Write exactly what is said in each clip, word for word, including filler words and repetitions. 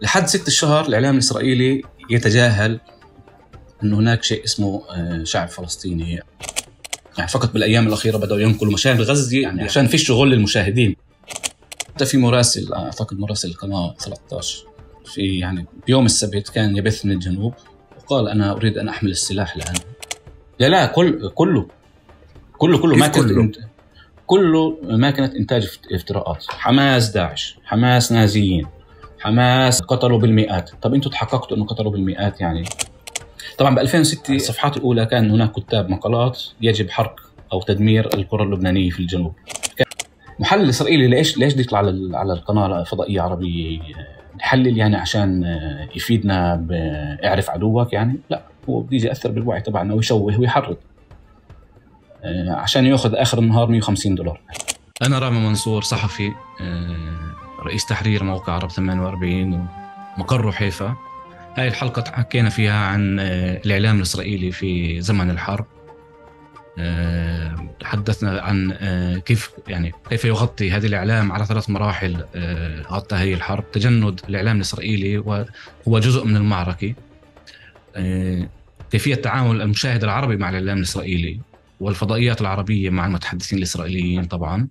لحد ست الشهر الإعلام الإسرائيلي يتجاهل أن هناك شيء اسمه شعب فلسطيني. يعني فقط بالأيام الأخيرة بدأوا ينقلوا مشاهد غزة يعني عشان في شغل للمشاهدين. حتى في مراسل أعتقد مراسل القناة ثلاثة عشر في يعني بيوم السبت كان يبث من الجنوب وقال أنا أريد أن أحمل السلاح الآن. لا لا كل كله كله كله ما كله كله ما كانت إنتاج افتراءات. حماس داعش، حماس نازيين، حماس قتلوا بالمئات. طب أنتوا تحققتوا أنه قتلوا بالمئات يعني؟ طبعا ب ألفين وستة الصفحات الأولى كان هناك كتاب مقالات يجب حرق أو تدمير القرى اللبنانية في الجنوب. محلل إسرائيلي ليش ليش يطلع على على القناة الفضائية عربية يحلل يعني عشان يفيدنا بإعرف عدوك يعني؟ لا، هو بده يأثر بالوعي تبعنا ويشوه ويحرض عشان يأخذ آخر النهار مية وخمسين دولار. أنا رامي منصور، صحفي رئيس تحرير موقع عرب ثمانية وأربعين ومقره حيفا. هاي الحلقة حكينا فيها عن الإعلام الإسرائيلي في زمن الحرب. تحدثنا عن كيف يعني كيف يغطي هذا الإعلام على ثلاث مراحل غطى هذه الحرب. تجند الإعلام الإسرائيلي وهو جزء من المعركة. كيفية تعامل المشاهد العربي مع الإعلام الإسرائيلي والفضائيات العربية مع المتحدثين الإسرائيليين طبعاً.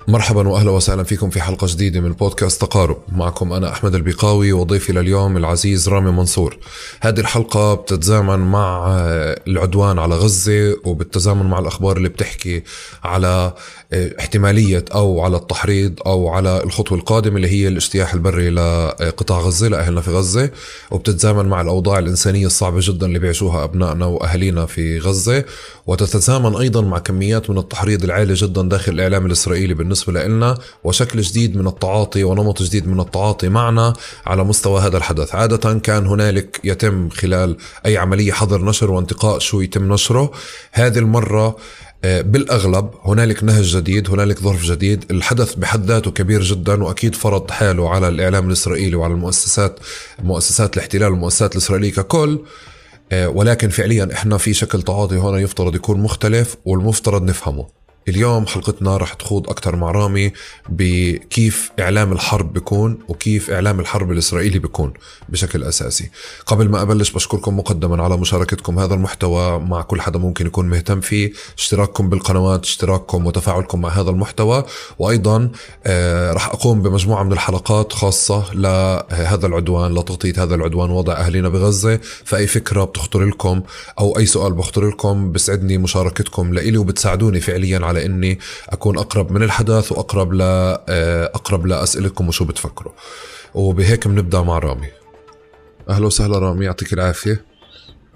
مرحبا وأهلا وسهلا فيكم في حلقة جديدة من بودكاست تقارب. معكم أنا أحمد البقاوي وضيفي لليوم العزيز رامي منصور. هذه الحلقة بتتزامن مع العدوان على غزة وبالتزامن مع الأخبار اللي بتحكي على احتمالية أو على التحريض أو على الخطوة القادمة اللي هي الاجتياح البري لقطاع غزة لأهلنا في غزة، وبتتزامن مع الأوضاع الإنسانية الصعبة جدا اللي بيعيشوها أبنائنا وأهلينا في غزة، وتتزامن أيضا مع كميات من التحريض العالي جدا داخل الإعلام الإسرائيلي بالنسبة لنا، وشكل جديد من التعاطي ونمط جديد من التعاطي معنا على مستوى هذا الحدث. عادة كان هنالك يتم خلال أي عملية حظر نشر وانتقاء شو يتم نشره. هذه المرة بالأغلب هنالك نهج جديد، هنالك ظرف جديد. الحدث بحد ذاته كبير جدا وأكيد فرض حاله على الإعلام الإسرائيلي وعلى المؤسسات مؤسسات الاحتلال والمؤسسات الإسرائيلية ككل، ولكن فعليا إحنا في شكل تعاطي هنا يفترض يكون مختلف والمفترض نفهمه. اليوم حلقتنا رح تخوض أكتر مع رامي بكيف إعلام الحرب بيكون وكيف إعلام الحرب الإسرائيلي بيكون بشكل أساسي. قبل ما أبلش بشكركم مقدما على مشاركتكم هذا المحتوى مع كل حدا ممكن يكون مهتم فيه، اشتراككم بالقنوات، اشتراككم وتفاعلكم مع هذا المحتوى. وأيضا آه رح أقوم بمجموعة من الحلقات خاصة لهذا العدوان، لتغطية هذا العدوان، وضع أهلنا بغزة. فأي فكرة بتخطر لكم أو أي سؤال بخطر لكم بسعدني مشاركتكم لإلي وبتساعدوني فعليا على على إني أكون أقرب من الحدث وأقرب لا أقرب لأسئلتكم وشو بتفكروا. وبهيك بنبدأ مع رامي. أهلا وسهلا رامي، يعطيك العافية.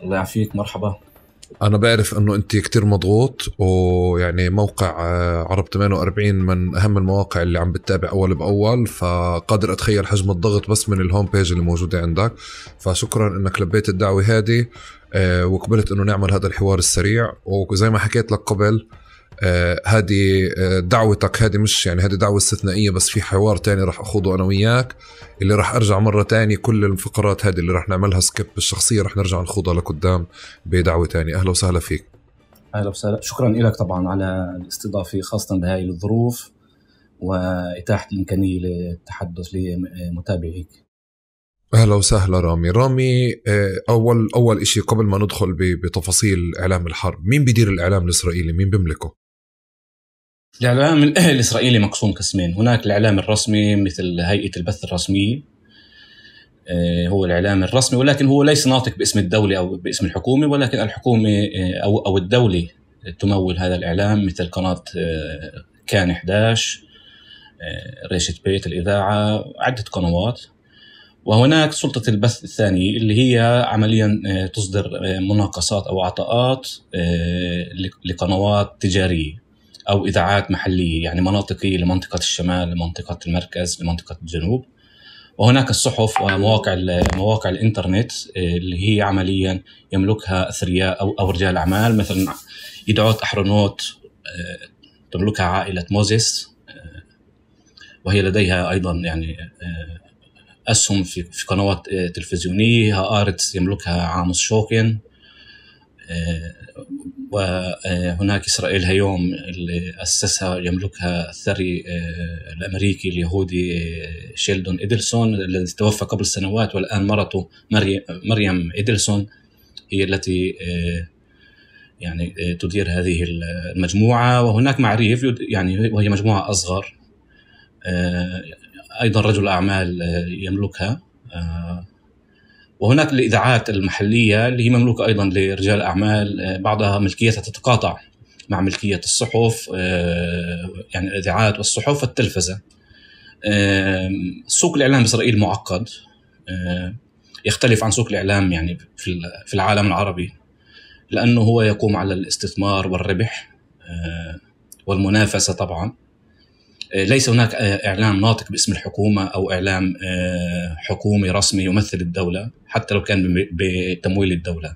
الله يعافيك. مرحبا. أنا بعرف أنه أنت كتير مضغوط، ويعني موقع عرب ثمانية وأربعين من أهم المواقع اللي عم بتتابع أول بأول، فقادر أتخيل حجم الضغط بس من الهوم بيج اللي موجودة عندك. فشكرا أنك لبيت الدعوة هذه وقبلت أنه نعمل هذا الحوار السريع. وزي ما حكيت لك قبل، آه هذه آه دعوتك، هذه مش يعني هذه دعوة استثنائية، بس في حوار تاني رح أخوضه أنا وياك اللي رح أرجع مرة تاني. كل الفقرات هذه اللي رح نعملها سكيب بالشخصية رح نرجع نخوضها لقدام بدعوة تاني. أهلا وسهلا فيك. أهلا وسهلا، شكرا لك طبعا على الاستضافة خاصة بهاي الظروف وإتاحة الإمكانية للتحدث لمتابعيك. أهلا وسهلا رامي. رامي أول أول إشي قبل ما ندخل بتفاصيل إعلام الحرب، مين بيدير الإعلام الإسرائيلي؟ مين بيملكه؟ الإعلام الإسرائيلي مقسوم قسمين. هناك الإعلام الرسمي مثل هيئة البث الرسمية، هو الإعلام الرسمي، ولكن هو ليس ناطق باسم الدولة أو باسم الحكومة، ولكن الحكومة أو أو الدولة تمول هذا الإعلام، مثل قناة كان إحدى عشر، ريشة بيت الإذاعة، عدة قنوات. وهناك سلطة البث الثانية اللي هي عمليا تصدر مناقصات أو عطاءات لقنوات تجارية أو إذاعات محلية، يعني مناطقية لمنطقة الشمال، لمنطقة المركز، لمنطقة الجنوب. وهناك الصحف ومواقع مواقع الإنترنت اللي هي عمليا يملكها أثرياء أو أو رجال أعمال، مثلا يدعوت أحرنوت تملكها عائلة موزيس، وهي لديها أيضا يعني أسهم في في قنوات تلفزيونية. هآرتس يملكها عاموس شوكن، وهناك إسرائيل هيوم اللي أسسها يملكها الثري الأمريكي اليهودي شيلدون إدلسون الذي توفى قبل سنوات، والآن مرته مريم إدلسون هي التي يعني تدير هذه المجموعة. وهناك معريف يعني وهي مجموعة أصغر أيضا رجل أعمال يملكها. وهناك الإذاعات المحلية اللي هي مملوكة أيضا لرجال أعمال، بعضها ملكيتها تتقاطع مع ملكية الصحف، يعني الإذاعات والصحف والتلفزة. سوق الإعلام بإسرائيل معقد، يختلف عن سوق الإعلام يعني في العالم العربي، لأنه هو يقوم على الاستثمار والربح والمنافسة. طبعا ليس هناك إعلام ناطق باسم الحكومة أو إعلام حكومي رسمي يمثل الدولة حتى لو كان بتمويل الدولة.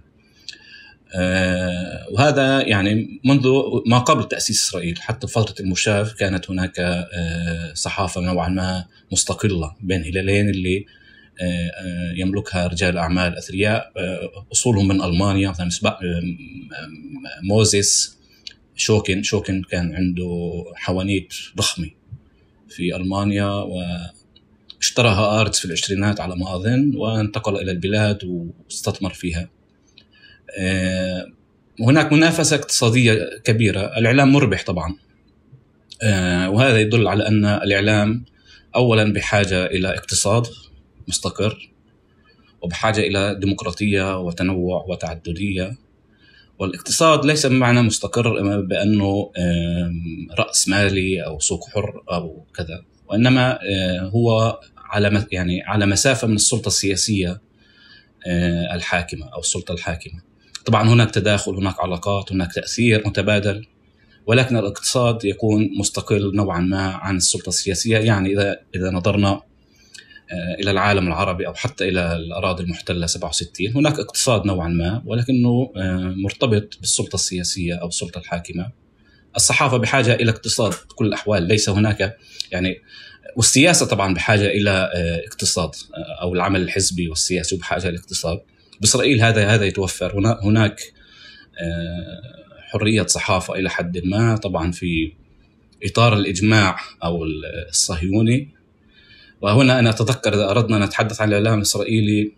وهذا يعني منذ ما قبل تأسيس إسرائيل، حتى فترة المشاف كانت هناك صحافة نوعا ما مستقلة بين هلالين اللي يملكها رجال أعمال أثرياء أصولهم من ألمانيا، مثلا موزيس شوكن شوكن كان عنده حوانيت ضخمة في ألمانيا، واشترى هآرتس في العشرينات على ما أظن، وانتقل إلى البلاد واستثمر فيها. وهناك منافسة اقتصادية كبيرة. الإعلام مربح طبعا، وهذا يدل على أن الإعلام أولا بحاجة إلى اقتصاد مستقر، وبحاجة إلى ديمقراطية وتنوع وتعددية. والاقتصاد ليس بمعنى مستقر بأنه رأس مالي أو سوق حر أو كذا، وإنما هو على يعني على مسافة من السلطة السياسية الحاكمة أو السلطة الحاكمة. طبعا هناك تداخل، هناك علاقات، هناك تأثير متبادل، ولكن الاقتصاد يكون مستقل نوعا ما عن السلطة السياسية. يعني إذا إذا نظرنا إلى العالم العربي أو حتى إلى الأراضي المحتلة سبعة وستين، هناك اقتصاد نوعا ما ولكنه مرتبط بالسلطة السياسية أو السلطة الحاكمة. الصحافة بحاجة إلى اقتصاد بكل الأحوال، ليس هناك يعني، والسياسة طبعا بحاجة إلى اقتصاد، أو العمل الحزبي والسياسي بحاجة إلى اقتصاد. بإسرائيل هذا هذا يتوفر. هناك حرية صحافة إلى حد ما، طبعا في إطار الإجماع أو الصهيوني. وهنا أنا أتذكر إذا أردنا نتحدث عن الإعلام الإسرائيلي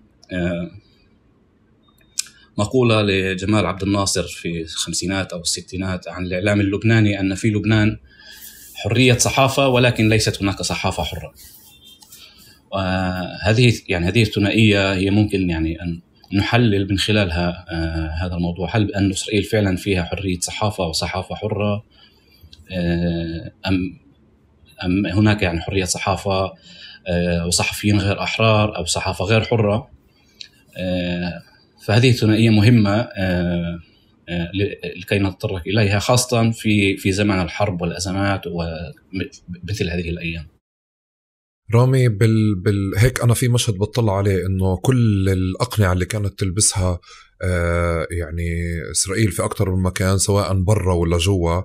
مقولة لجمال عبد الناصر في الخمسينات أو الستينات عن الإعلام اللبناني، أن في لبنان حرية صحافة ولكن ليست هناك صحافة حرة. وهذه يعني هذه الثنائية هي ممكن يعني أن نحلل من خلالها هذا الموضوع. هل أن إسرائيل فعلا فيها حرية صحافة وصحافة حرة، أم أم هناك يعني حرية صحافة وصحفيين غير أحرار أو صحافة غير حرة؟ فهذه الثنائية مهمة لكي نتطرق إليها، خاصة في في زمن الحرب والأزمات ومثل هذه الأيام. رامي بال... بال... هيك أنا في مشهد بطلع عليه إنه كل الأقنعة اللي كانت تلبسها آه يعني إسرائيل في أكتر من مكان سواء برا ولا جوا،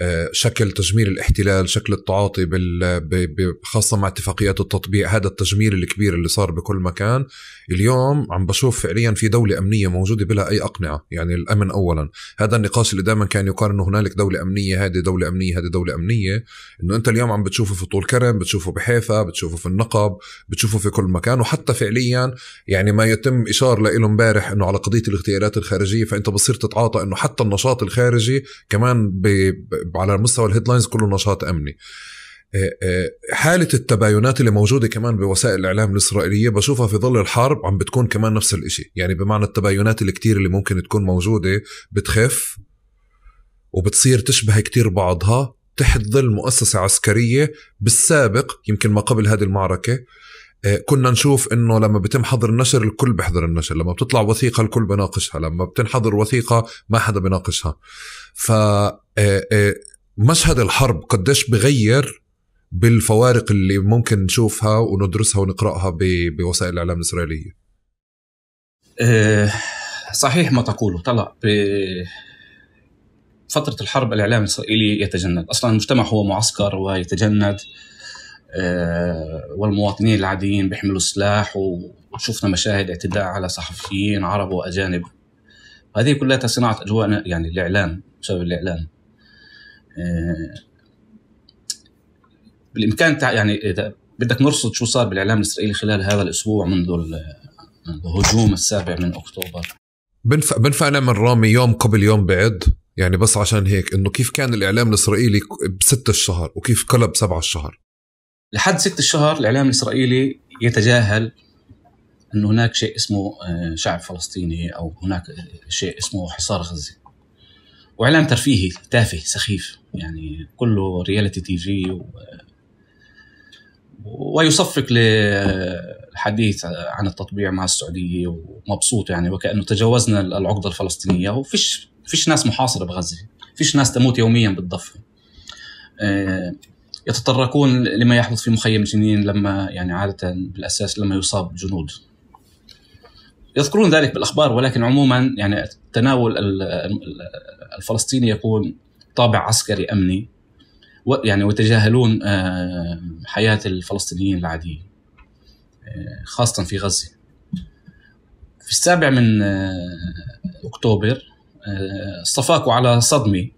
آه شكل تجميل الاحتلال، شكل التعاطي بال... ب... ب... خاصة مع اتفاقيات التطبيع، هذا التجميل الكبير اللي صار بكل مكان. اليوم عم بشوف فعليا في دولة أمنية موجودة بلا أي أقنعة، يعني الأمن أولا. هذا النقاش اللي دائما كان يقال إنه هنالك دولة أمنية، هذه دولة أمنية، هذه دولة أمنية، إنه أنت اليوم عم بتشوفه في طول كرم، بتشوفه بحيفا، بتشوفه في النقب، بتشوفه في كل مكان. وحتى فعليا يعني ما يتم إشار له امبارح إنه على قضية الاغتيالات الخارجية، فأنت بصير تتعاطى إنه حتى النشاط الخارجي كمان ب... ب... على مستوى الهيدلاينز كله نشاط أمني. حالة التباينات اللي موجودة كمان بوسائل الإعلام الإسرائيلية بشوفها في ظل الحرب عم بتكون كمان نفس الاشي، يعني بمعنى التباينات اللي كتير اللي ممكن تكون موجودة بتخف وبتصير تشبه كتير بعضها تحت ظل مؤسسة عسكرية. بالسابق يمكن ما قبل هذه المعركة كنا نشوف إنه لما بتم حظر النشر الكل بيحضر النشر، لما بتطلع وثيقة الكل بناقشها، لما بتنحضر وثيقة ما حدا بناقشها. فمشهد الحرب قديش بغير بالفوارق اللي ممكن نشوفها وندرسها ونقرأها بوسائل الإعلام الإسرائيلية. أه صحيح ما تقوله. طلع فترة الحرب الإعلام الإسرائيلي يتجند. أصلا المجتمع هو معسكر ويتجند، والمواطنين العاديين بيحملوا سلاح، وشفنا مشاهد اعتداء على صحفيين عرب وأجانب. هذه كلها صناعة أجواء يعني الإعلام، بسبب الإعلام. بالإمكان يعني إذا بدك نرصد شو صار بالإعلام الإسرائيلي خلال هذا الأسبوع منذ الهجوم السابع من أكتوبر. بنفع بنفع نعمل رامي يوم قبل يوم بعد، يعني بس عشان هيك إنه كيف كان الإعلام الإسرائيلي بست الشهر وكيف قلب سبع الشهر. لحد ست الشهر الإعلام الإسرائيلي يتجاهل أن هناك شيء اسمه شعب فلسطيني، أو هناك شيء اسمه حصار غزة، وإعلام ترفيهي تافه سخيف، يعني كله رياليتي تي في و... ويصفق للحديث عن التطبيع مع السعودية ومبسوط، يعني وكأنه تجاوزنا العقدة الفلسطينية، وفيش فيش ناس محاصرة بغزة، فيش ناس تموت يوميا بالضفة. يتطرقون لما يحدث في مخيم جنين لما يعني عادة بالأساس لما يصاب جنود، يذكرون ذلك بالأخبار، ولكن عموما يعني تناول الفلسطيني يكون طابع عسكري أمني، يعني ويتجاهلون حياة الفلسطينيين العادية خاصة في غزة. في السابع من أكتوبر استفاقوا على صدمة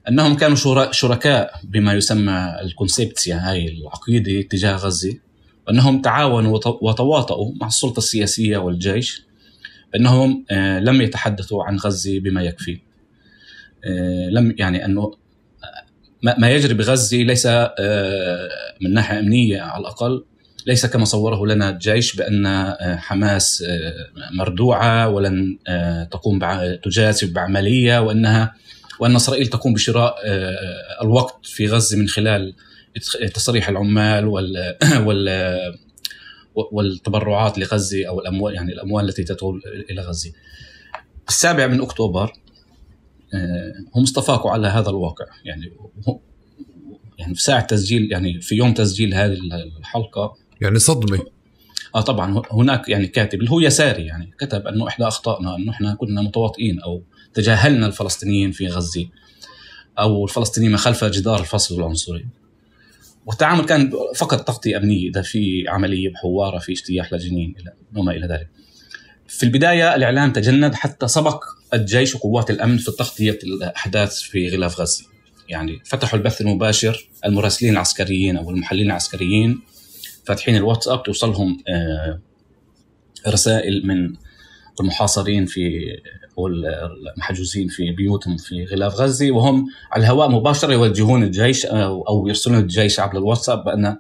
أنهم كانوا شركاء بما يسمى الكونسيبتسيا، هاي العقيدة تجاه غزة، وأنهم تعاونوا وتواطؤوا مع السلطة السياسية والجيش، أنهم لم يتحدثوا عن غزة بما يكفي. لم يعني أنه ما يجري بغزة ليس من ناحية أمنية على الأقل ليس كما صوره لنا الجيش، بأن حماس مردوعة ولن تقوم تجازف بعملية، وأنها وأن إسرائيل تقوم بشراء الوقت في غزة من خلال تصريح العمال وال وال والتبرعات لغزة، أو الأموال يعني الأموال التي تدخل إلى غزة. السابع من أكتوبر هم استفاقوا على هذا الواقع، يعني يعني في ساعة تسجيل، يعني في يوم تسجيل هذه الحلقة، يعني صدمة. آه طبعا هناك يعني كاتب اللي هو يساري يعني كتب أنه إحدى أخطائنا أنه إحنا كنا متواطئين أو تجاهلنا الفلسطينيين في غزة، أو الفلسطينيين من خلف جدار الفصل العنصري، والتعامل كان فقط تغطية أمنية، إذا في عملية بحوارة في اجتياح لجنين وما إلى ذلك. في البداية الإعلام تجند حتى سبق الجيش وقوات الأمن في تغطية الأحداث في غلاف غزة، يعني فتحوا البث المباشر، المراسلين العسكريين أو المحللين العسكريين فاتحين الواتساب توصلهم رسائل من المحاصرين في والمحجوزين في بيوتهم في غلاف غزة، وهم على الهواء مباشرة يوجهون الجيش أو يرسلون الجيش عبر الواتساب بأن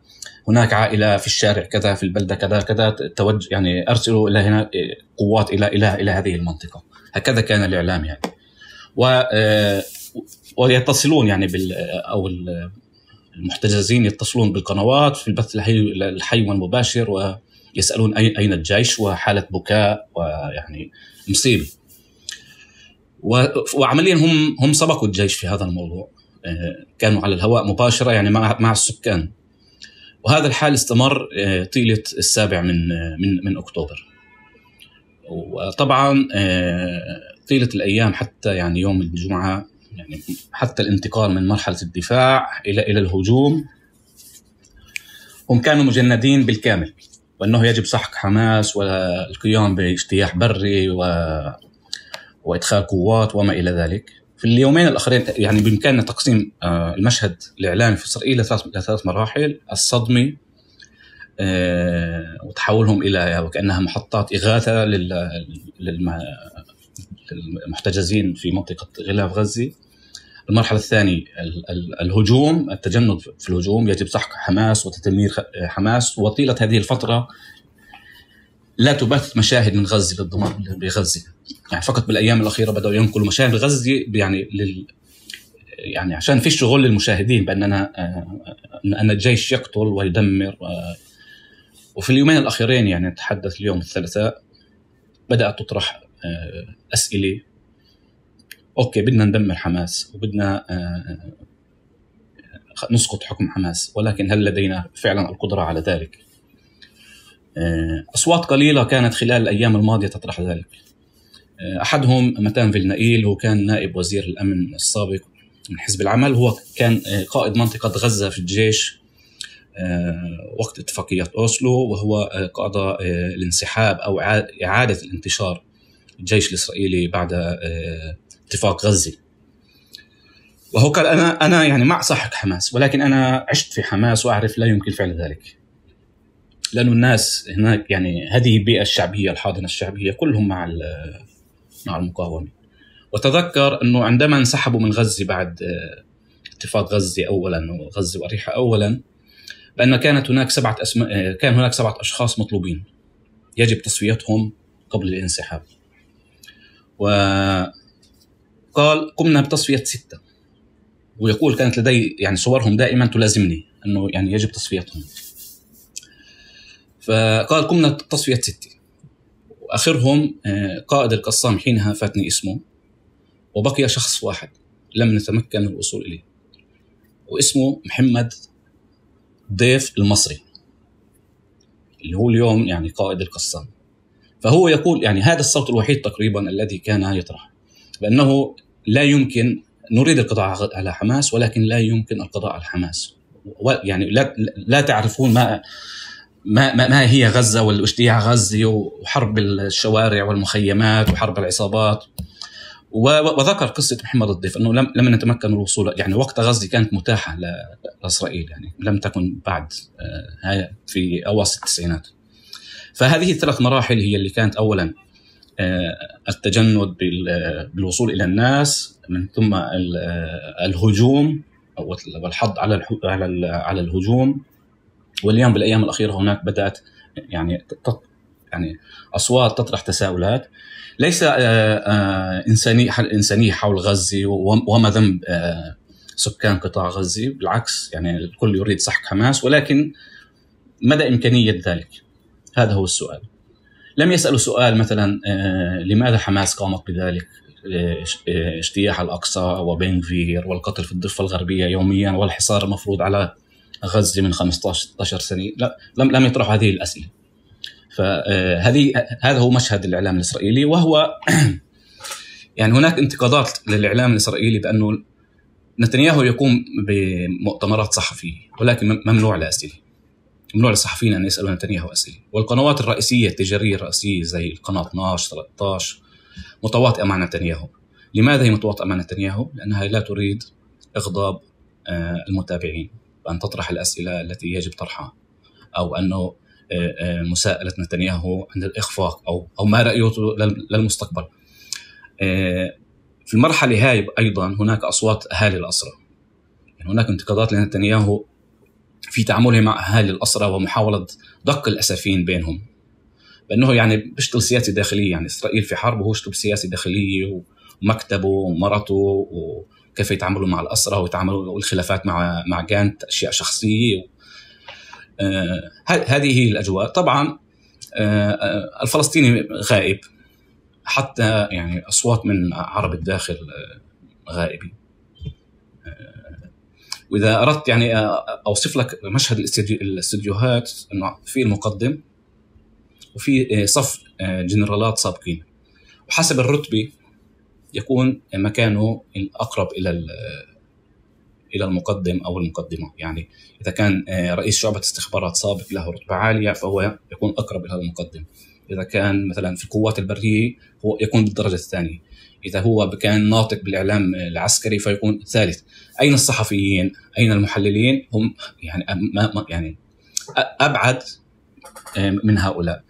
هناك عائلة في الشارع كذا في البلدة كذا كذا توجه، يعني أرسلوا إلى هنا قوات إلى إلى إلى هذه المنطقة. هكذا كان الإعلام يعني، و ويتصلون يعني بال أو المحتجزين يتصلون بالقنوات في البث الحي الحي والمباشر ويسألون أين أين الجيش، وحالة بكاء ويعني مصيبة. وعمليا هم هم سبقوا الجيش في هذا الموضوع، كانوا على الهواء مباشرة يعني مع مع السكان، وهذا الحال استمر طيلة السابع من من من أكتوبر. وطبعا طيلة الأيام حتى يعني يوم الجمعة، يعني حتى الانتقال من مرحلة الدفاع إلى إلى الهجوم، هم كانوا مجندين بالكامل، وأنه يجب سحق حماس والقيام باجتياح بري و وإدخال قوات وما إلى ذلك. في اليومين الأخرين يعني بإمكاننا تقسيم المشهد الإعلامي في إسرائيل لثلاث مراحل: الصدمة وتحولهم إلى وكأنها محطات إغاثة للمحتجزين في منطقة غلاف غزة. المرحلة الثانية الهجوم، التجند في الهجوم، يجب سحق حماس وتدمير حماس. وطيلة هذه الفترة لا تبث مشاهد من غزة للضمان بغزة، يعني فقط بالأيام الأخيرة بدأوا ينقلوا مشاهد غزة يعني لل يعني عشان في شغل للمشاهدين بأننا أن الجيش يقتل ويدمر. وفي اليومين الأخيرين يعني نتحدث اليوم الثلاثاء بدأت تطرح أسئلة: أوكي بدنا ندمر حماس وبدنا نسقط حكم حماس، ولكن هل لدينا فعلا القدرة على ذلك؟ أصوات قليلة كانت خلال الأيام الماضية تطرح ذلك. أحدهم متان فيلنائيل، هو كان نائب وزير الأمن السابق من حزب العمل، هو كان قائد منطقة غزة في الجيش وقت اتفاقية أوسلو، وهو قضى الانسحاب أو إعادة الانتشار الجيش الإسرائيلي بعد اتفاق غزة. وهو قال أنا أنا يعني مع سحق حماس، ولكن أنا عشت في حماس وأعرف لا يمكن فعل ذلك، لأن الناس هناك يعني هذه البيئة الشعبية الحاضنة الشعبية كلهم مع مع المقاومة. وتذكر أنه عندما انسحبوا من غزة بعد اتفاق غزة أولا وغزة وأريحة أولا، بأن كانت هناك سبعة أسماء كان هناك سبعة أشخاص مطلوبين يجب تصفيتهم قبل الانسحاب، وقال قمنا بتصفية ستة، ويقول كانت لدي يعني صورهم دائما تلازمني أنه يعني يجب تصفيتهم. فقال قمنا بتصفية ستة، وآخرهم قائد القسام حينها فاتني اسمه، وبقي شخص واحد لم نتمكن من الوصول إليه، واسمه محمد ضيف المصري اللي هو اليوم يعني قائد القسام. فهو يقول يعني هذا الصوت الوحيد تقريبا الذي كان يطرح بأنه لا يمكن نريد القضاء على حماس، ولكن لا يمكن القضاء على حماس. يعني لا لا تعرفون ما ما ما هي غزة والاجتياح غزة وحرب الشوارع والمخيمات وحرب العصابات. وذكر قصة محمد الضيف أنه لم لم نتمكن من الوصول، يعني وقت غزة كانت متاحة لإسرائيل، يعني لم تكن بعد هاي في أواسط التسعينات. فهذه الثلاث مراحل هي اللي كانت أولا التجند بالوصول إلى الناس، من ثم الهجوم والحض على على على الهجوم، واليوم بالأيام الأخيرة هناك بدأت يعني يعني أصوات تطرح تساؤلات ليس إنسانية إنسانية حول غزة وما ذنب سكان قطاع غزة، بالعكس يعني الكل يريد سحق حماس، ولكن مدى إمكانية ذلك؟ هذا هو السؤال. لم يسألوا سؤال مثلا لماذا حماس قامت بذلك، اجتياح الأقصى وبن غفير والقتل في الضفة الغربية يوميا والحصار المفروض على غزة من خمسة عشر ستة عشر سنة، لا لم لم يطرحوا هذه الأسئلة. فهذه هذا هو مشهد الإعلام الإسرائيلي، وهو يعني هناك انتقادات للإعلام الإسرائيلي بأنه نتنياهو يقوم بمؤتمرات صحفية ولكن ممنوع لأسئلة، ممنوع للصحفيين أن يسألوا نتنياهو أسئلة. والقنوات الرئيسية التجارية الرئيسية زي القناة اثنا عشر ثلاثة عشر متواطئة مع نتنياهو. لماذا هي متواطئة مع نتنياهو؟ لأنها لا تريد إغضاب المتابعين بأن تطرح الأسئلة التي يجب طرحها، أو أنه مساءلة نتنياهو عند الإخفاق أو أو ما رأيته للمستقبل. في المرحلة هاي أيضا هناك أصوات أهالي الأسرى، يعني هناك انتقادات لنتنياهو في تعامله مع أهالي الأسرى ومحاولة دق الأسفين بينهم، بأنه يعني بيشتغل سياسة داخلية، يعني إسرائيل في حرب وهو يشتغل سياسة داخلية ومكتبه ومرته وكيف يتعاملوا مع الأسرى ويتعاملوا والخلافات مع مع جانت أشياء شخصية. آه هذه هي الأجواء. طبعا آه الفلسطيني غائب، حتى يعني أصوات من عرب الداخل غائبة. آه وإذا أردت يعني أوصف لك مشهد الاستديوهات، إنه في المقدم وفي صف جنرالات سابقين، وحسب الرتبة يكون مكانه الأقرب إلى إلى المقدم أو المقدمة. يعني إذا كان رئيس شعبة استخبارات سابق له رتبة عالية فهو يكون أقرب إلى المقدم، إذا كان مثلا في القوات البرية هو يكون بالدرجة الثانية، إذا هو كان ناطق بالإعلام العسكري فيكون الثالث. أين الصحفيين؟ أين المحللين؟ هم يعني ما يعني أبعد من هؤلاء.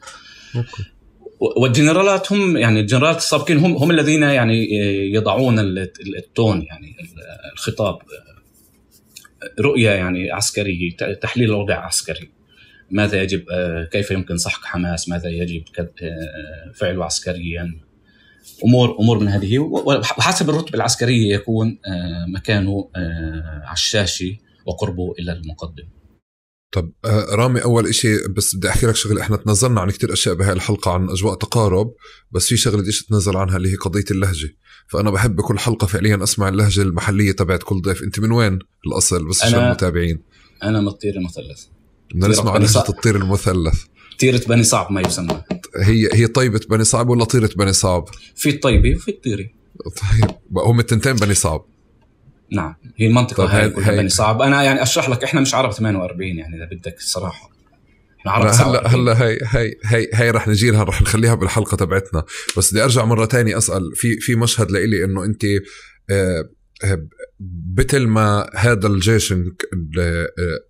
والجنرالات هم يعني الجنرالات السابقين هم هم الذين يعني يضعون التون، يعني الخطاب، رؤية يعني عسكرية، تحليل الوضع عسكري، ماذا يجب، كيف يمكن سحق حماس، ماذا يجب فعله عسكريا، أمور أمور من هذه. وحسب الرتبة العسكرية يكون مكانه على الشاشة وقربه إلى المقدم. طب رامي، أول إشي بس بدي أحكي لك شغل. إحنا تنزلنا عن كتير أشياء بهاي الحلقة عن أجواء تقارب، بس في شغلة إيش تنزل عنها اللي هي قضية اللهجة. فأنا بحب بكل حلقة فعليا أسمع اللهجة المحلية تبعت كل ضيف. أنت من وين الأصل بس عشان المتابعين؟ أنا من الطير المثلث. بدنا نسمع عن لهجة الطير المثلث. طيرة بني صعب ما يسمى. هي هي طيبة بني صعب ولا طيرة بني صعب؟ في الطيبة وفي الطيرة. طيب هم التنتين بني صعب. نعم هي المنطقة هاي كلها هي... بني صعب. أنا يعني أشرح لك إحنا مش عرب ثمانية وأربعين يعني إذا بدك الصراحة إحنا عرب هلا هلا هي هي هي هي رح نجي لها، رح نخليها بالحلقة تبعتنا. بس بدي أرجع مرة تاني أسأل في في مشهد لإلي إنه أنت آه مثل ما هذا الجيش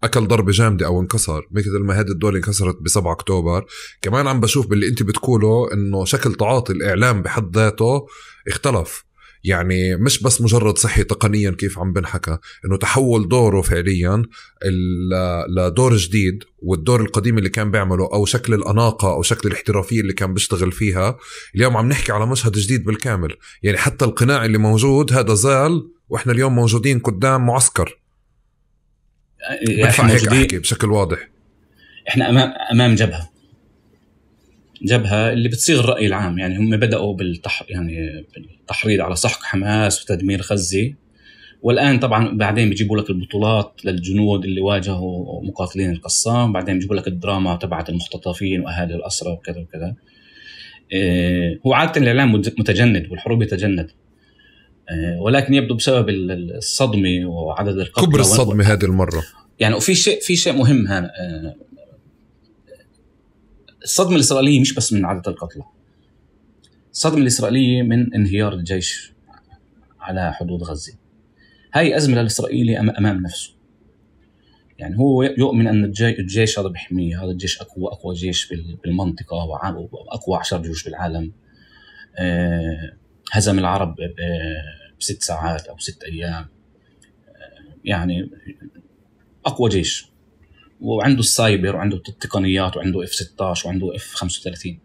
أكل ضربة جامدة أو انكسر، مثل ما هذه الدولة انكسرت بسبعة أكتوبر، كمان عم بشوف باللي أنت بتقوله إنه شكل تعاطي الإعلام بحد ذاته اختلف. يعني مش بس مجرد صحي تقنيا كيف عم بنحكى، إنه تحول دوره فعليا لدور جديد، والدور القديم اللي كان بيعمله أو شكل الأناقة أو شكل الاحترافية اللي كان بيشتغل فيها، اليوم عم نحكي على مشهد جديد بالكامل. يعني حتى القناع اللي موجود هذا زال، وإحنا اليوم موجودين قدام معسكر. بدفع هيك أحكي بشكل واضح. إحنا أمام أمام جبهة جبهة اللي بتصيغ الرأي العام. يعني هم بدأوا بالتح يعني بالتحريض على سحق حماس وتدمير غزة، والآن طبعا بعدين بيجيبوا لك البطولات للجنود اللي واجهوا مقاتلين القسام، بعدين بيجيبوا لك الدراما تبعت المختطفين وأهالي الأسرى وكذا وكذا. إيه هو عادة الإعلام متجند والحروب يتجند، إيه ولكن يبدو بسبب الصدمة وعدد القتلى كبر الصدمة و... هذه المرة. يعني وفي شيء في شيء مهم هنا، إيه الصدمة الإسرائيلية مش بس من عدد القتلى، الصدمة الإسرائيلية من انهيار الجيش على حدود غزة. هاي أزمة الإسرائيلي أمام نفسه. يعني هو يؤمن أن الجيش هذا بحميه، هذا الجيش أقوى أقوى جيش بالمنطقة وأقوى عشر جيوش بالعالم، هزم العرب بست ساعات أو ست أيام، يعني أقوى جيش، وعنده السايبر وعنده التقنيات وعنده إف ستة عشر وعنده إف خمسة وثلاثين.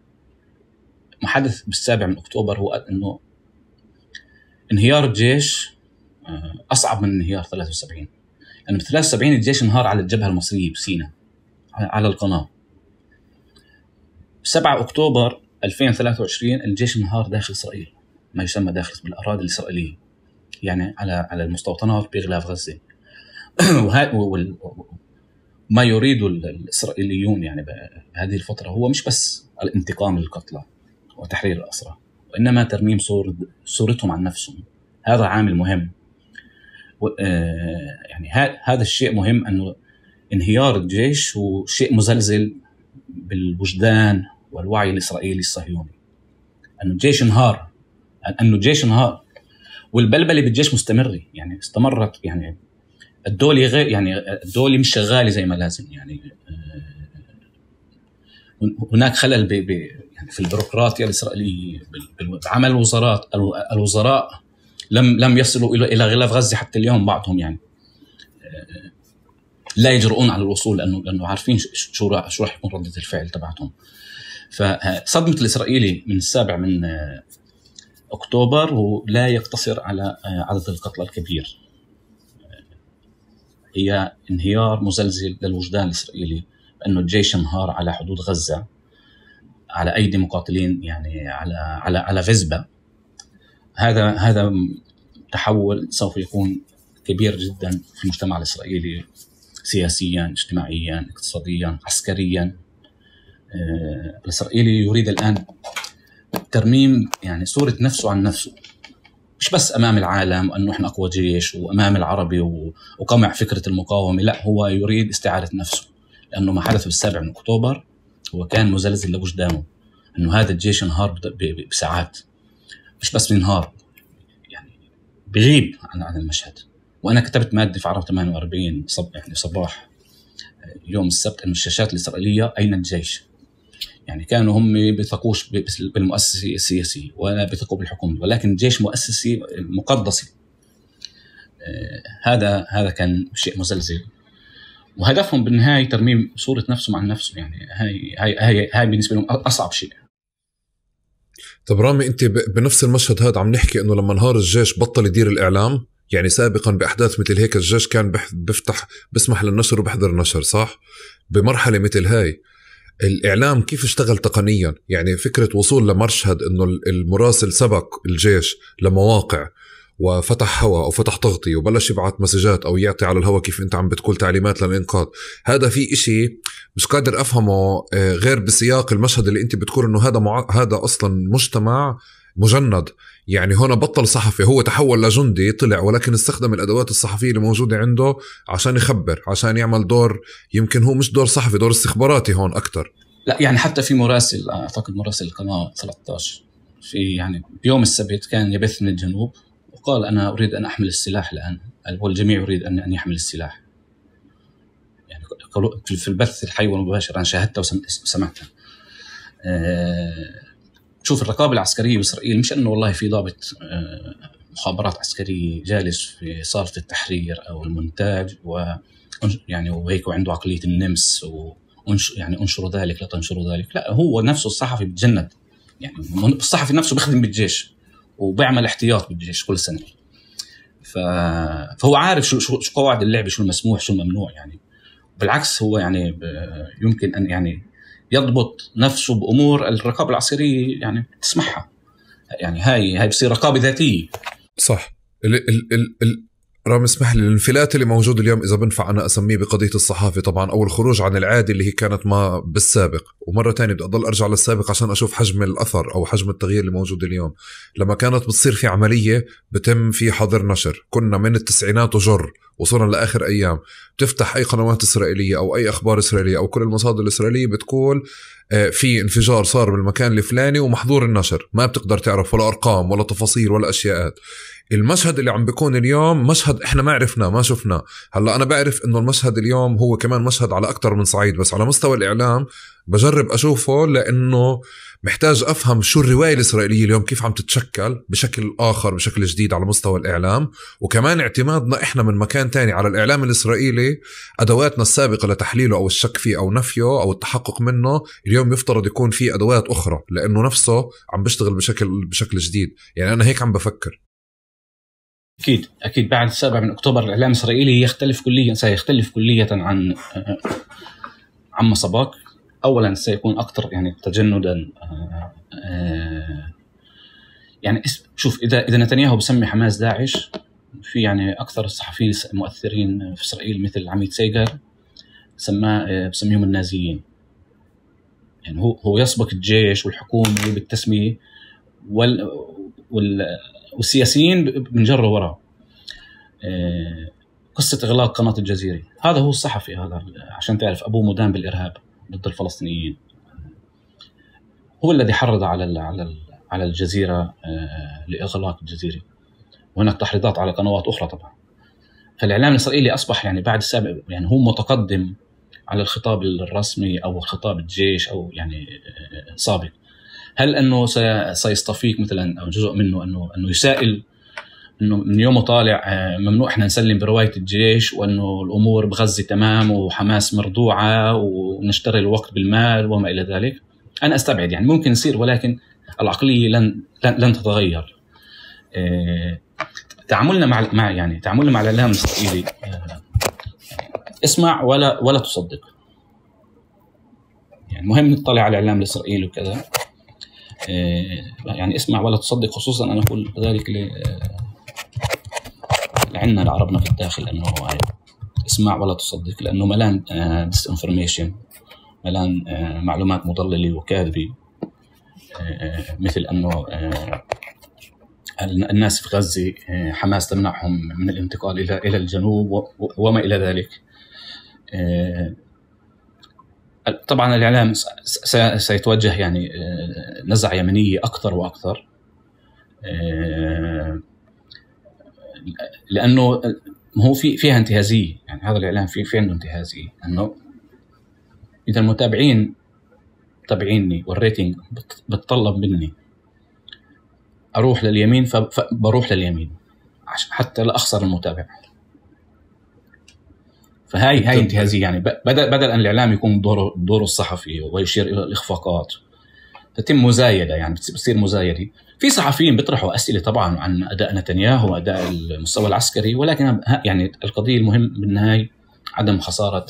ما حدث بالسابع من أكتوبر هو أنه انهيار الجيش أصعب من انهيار ثلاثة وسبعين، لأنه ب ثلاثة وسبعين الجيش انهار على الجبهة المصرية بسيناء على القناة. سبعة أكتوبر ألفين وثلاثة وعشرين الجيش انهار داخل إسرائيل، ما يسمى داخل بالأراضي الإسرائيلية، يعني على على المستوطنات بغلاف غزة. وما يريد الإسرائيليون يعني بهذه الفترة هو مش بس الانتقام للقتلى وتحرير الأسرى، وإنما ترميم صور صورتهم عن نفسهم. هذا عامل مهم. يعني هذا الشيء مهم، أنه انهيار الجيش هو شيء مزلزل بالوجدان والوعي الإسرائيلي الصهيوني، أنه الجيش انهار، أنه الجيش انهار والبلبلة بالجيش مستمرة. يعني استمرت، يعني الدولة غير يعني الدولة مش شغالة زي ما لازم. يعني هناك خلل ب ب يعني في البيروقراطية الإسرائيلية بعمل الوزارات. الوزراء لم لم يصلوا إلى إلى غلاف غزة حتى اليوم، بعضهم يعني لا يجرؤون على الوصول، لأنه لأنه عارفين شو شو راح يكون ردة الفعل تبعتهم. فصدمة الإسرائيلي من السابع من أكتوبر ولا يقتصر على عدد القتلى الكبير، هي انهيار مزلزل للوجدان الإسرائيلي، بأنه الجيش انهار على حدود غزة على أيدي مقاتلين، يعني على على على فزبة. هذا هذا تحول سوف يكون كبير جدا في المجتمع الإسرائيلي، سياسيا، اجتماعيا، اقتصاديا، عسكريا. الإسرائيلي يريد الآن ترميم يعني صورة نفسه عن نفسه، مش بس أمام العالم أنه إحنا أقوى جيش وأمام العربي وقمع فكرة المقاومة، لا، هو يريد استعادة نفسه، لأنه ما حدث بالسابع من أكتوبر هو كان مزلزل لوجدانه، أنه هذا الجيش انهار بساعات، مش بس بينهار، يعني بغيب عن عن المشهد. وأنا كتبت مادة في عرب ثمانية وأربعين صب يعني صباح يوم السبت أن الشاشات الإسرائيلية أين الجيش؟ يعني كانوا هم بيثقوش بالمؤسسة السياسية ولا بيثقوا بالحكومة، ولكن الجيش مؤسسي مقدسي. آه هذا هذا كان شيء مزلزل، وهدفهم بالنهاية ترميم صورة نفسه مع نفسه. يعني هاي هاي هاي هاي بالنسبة لهم أصعب شيء. طب رامي، أنت بنفس المشهد هذا عم نحكي إنه لما انهار الجيش بطل يدير الإعلام. يعني سابقا بأحداث مثل هيك الجيش كان بيفتح بسمح للنشر وبحضر النشر، صح؟ بمرحلة مثل هاي الإعلام كيف اشتغل تقنيا؟ يعني فكرة وصول لمشهد إنه المراسل سبق الجيش لمواقع وفتح هوا أو فتح تغطية وبلش يبعت مسجات أو يعطي على الهوا كيف أنت عم بتقول تعليمات للإنقاذ، هذا في إشي مش قادر أفهمه غير بسياق المشهد اللي أنت بتقول إنه هذا مع... هذا أصلا مجتمع مجند. يعني هنا بطل صحفي، هو تحول لجندي طلع، ولكن استخدم الأدوات الصحفية اللي موجودة عنده عشان يخبر، عشان يعمل دور يمكن هو مش دور صحفي، دور استخباراتي هون أكتر. لا يعني حتى في مراسل، أعتقد مراسل القناة ثلاثة عشر في يعني بيوم السبت كان يبث من الجنوب وقال أنا أريد أن أحمل السلاح الآن، والجميع يريد أن يحمل السلاح. يعني في البث الحي والمباشر أنا شاهدتها وسمعتها. أه شوف الرقابة العسكرية بإسرائيل مش أنه والله في ضابط أه مخابرات عسكرية جالس في صالة التحرير أو المونتاج و يعني وهيك وعنده عقلية النمس وانش يعني انشروا ذلك لا تنشروا ذلك. لا، هو نفسه الصحفي بتجند، يعني الصحفي نفسه بيخدم بالجيش وبيعمل احتياط بالجيش كل سنة. فهو عارف شو شو قواعد اللعب، شو المسموح شو الممنوع. يعني بالعكس هو يعني يمكن أن يعني يضبط نفسه بأمور الرقابة العسكرية يعني تسمحها. يعني هاي هاي بصير رقابة ذاتية. صح. ال ال ال ال رام اسمح لي، الانفلات اللي موجود اليوم إذا بنفع أنا أسميه بقضية الصحافة طبعا، أو الخروج عن العادي اللي هي كانت ما بالسابق، ومرة تانية بدي أضل أرجع للسابق عشان أشوف حجم الأثر أو حجم التغيير اللي موجود اليوم. لما كانت بتصير في عملية بتم في حظر نشر، كنا من التسعينات وجر وصلنا لآخر أيام تفتح أي قنوات إسرائيلية أو أي أخبار إسرائيلية أو كل المصادر الإسرائيلية بتقول في انفجار صار بالمكان الفلاني ومحظور النشر، ما بتقدر تعرف ولا أرقام ولا تفاصيل ولا أشياءات. المشهد اللي عم بيكون اليوم مشهد إحنا ما عرفنا ما شفنا. هلأ أنا بعرف إنه المشهد اليوم هو كمان مشهد على أكتر من صعيد، بس على مستوى الإعلام بجرب أشوفه لأنه محتاج أفهم شو الرواية الإسرائيلية اليوم كيف عم تتشكل بشكل آخر بشكل جديد على مستوى الإعلام، وكمان اعتمادنا إحنا من مكان تاني على الإعلام الإسرائيلي، أدواتنا السابقة لتحليله أو الشك فيه أو نفيه أو التحقق منه اليوم يفترض يكون فيه أدوات أخرى لأنه نفسه عم بيشتغل بشكل بشكل جديد. يعني أنا هيك عم بفكر. أكيد أكيد بعد السابع من أكتوبر الإعلام الإسرائيلي يختلف كليا، سيختلف كليا عن عما سبق. أولا سيكون أكثر يعني تجندا. يعني شوف إذا إذا نتنياهو بسمي حماس داعش، في يعني أكثر الصحفيين المؤثرين في إسرائيل مثل عميد سيجر سماه بسميهم النازيين. يعني هو هو يسبق الجيش والحكومة بالتسمية وال وال والسياسيين بنجروا وراه. قصة إغلاق قناة الجزيرة، هذا هو الصحفي، هذا عشان تعرف أبوه مدان بالإرهاب ضد الفلسطينيين، هو الذي حرض على على على الجزيرة لإغلاق الجزيرة، وهناك تحريضات على قنوات أخرى طبعا. فالإعلام الإسرائيلي أصبح يعني بعد السابق يعني هو متقدم على الخطاب الرسمي أو خطاب الجيش أو يعني سابق. هل أنه سيصطفيك مثلا أو جزء منه أنه أنه يسائل إنه من يومه طالع ممنوع إحنا نسلم برواية الجيش، وأنه الأمور بغزة تمام وحماس مردوعة ونشتري الوقت بالمال وما إلى ذلك؟ أنا أستبعد، يعني ممكن يصير، ولكن العقلية لن لن تتغير. تعاملنا مع مع يعني تعاملنا مع الإعلام الإسرائيلي اسمع ولا ولا تصدق. يعني مهم نطلع على الإعلام الإسرائيلي وكذا، يعني اسمع ولا تصدق. خصوصا أنا أقول ذلك لعنا لعربنا في الداخل، أنه اسمع ولا تصدق، لأنه ملان ديس انفورميشن، ملان معلومات مضللة وكاذبة، مثل أنه الناس في غزة حماس تمنعهم من الانتقال إلى إلى الجنوب وما إلى ذلك. طبعا الإعلام سيتوجه يعني نزعة يمنية أكثر وأكثر، لأنه هو في فيها انتهازية. يعني هذا الإعلام في في عنده انتهازية، أنه إذا المتابعين تابعيني والريتنج بتطلب مني أروح لليمين فبروح لليمين حتى لا أخسر المتابع. فهاي هاي انتهازية. يعني بدل بدل أن الإعلام يكون دوره دوره الصحفي ويشير إلى الإخفاقات، تتم مزايدة، يعني بتصير مزايدة. في صحفيين بيطرحوا أسئلة طبعا عن أداء نتنياهو وأداء المستوى العسكري، ولكن يعني القضية المهم بالنهاية عدم خسارة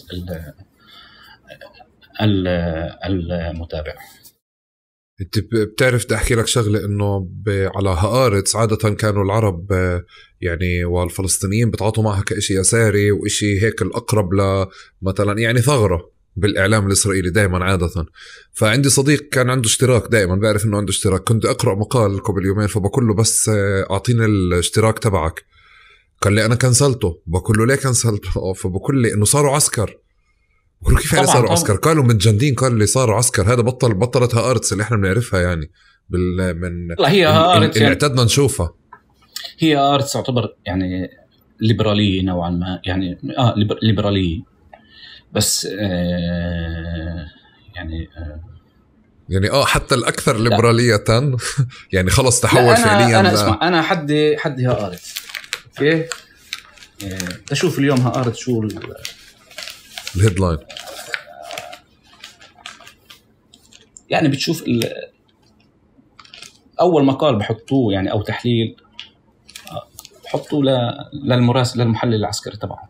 المتابع. انت بتعرف تحكي لك شغله انه على هآرتس عاده كانوا العرب يعني والفلسطينيين بتعاطوا معها كإشي يساري وإشي هيك الأقرب لمثلا يعني ثغرة بالإعلام الإسرائيلي دائما عادة. فعندي صديق كان عنده اشتراك، دائما بعرف إنه عنده اشتراك، كنت أقرأ مقال قبل يومين فبقول له بس أعطيني الاشتراك تبعك، قال لي أنا كنسلته. بقول له ليه كنسلته؟ فبقول لي إنه صاروا عسكر. بقول له كيف يعني صاروا عسكر؟ قالوا متجندين. قال لي صاروا عسكر. هذا بطل بطلت هآرتس اللي إحنا بنعرفها يعني بال من هي هآرتس اللي اعتدنا نشوفها. هي هآرتس تعتبر يعني ليبرالية نوعا ما، يعني آه ليبرالية بس آه يعني آه يعني اه حتى الأكثر ليبرالية يعني خلص تحول أنا فعليا. أنا اسمع، أنا حدي حدي هآرتس اوكي. تشوف اليوم هآرتس شو الهيدلاين، يعني بتشوف أول مقال بحطوه يعني أو تحليل بحطوه للمراسل للمحلل العسكري تبعه.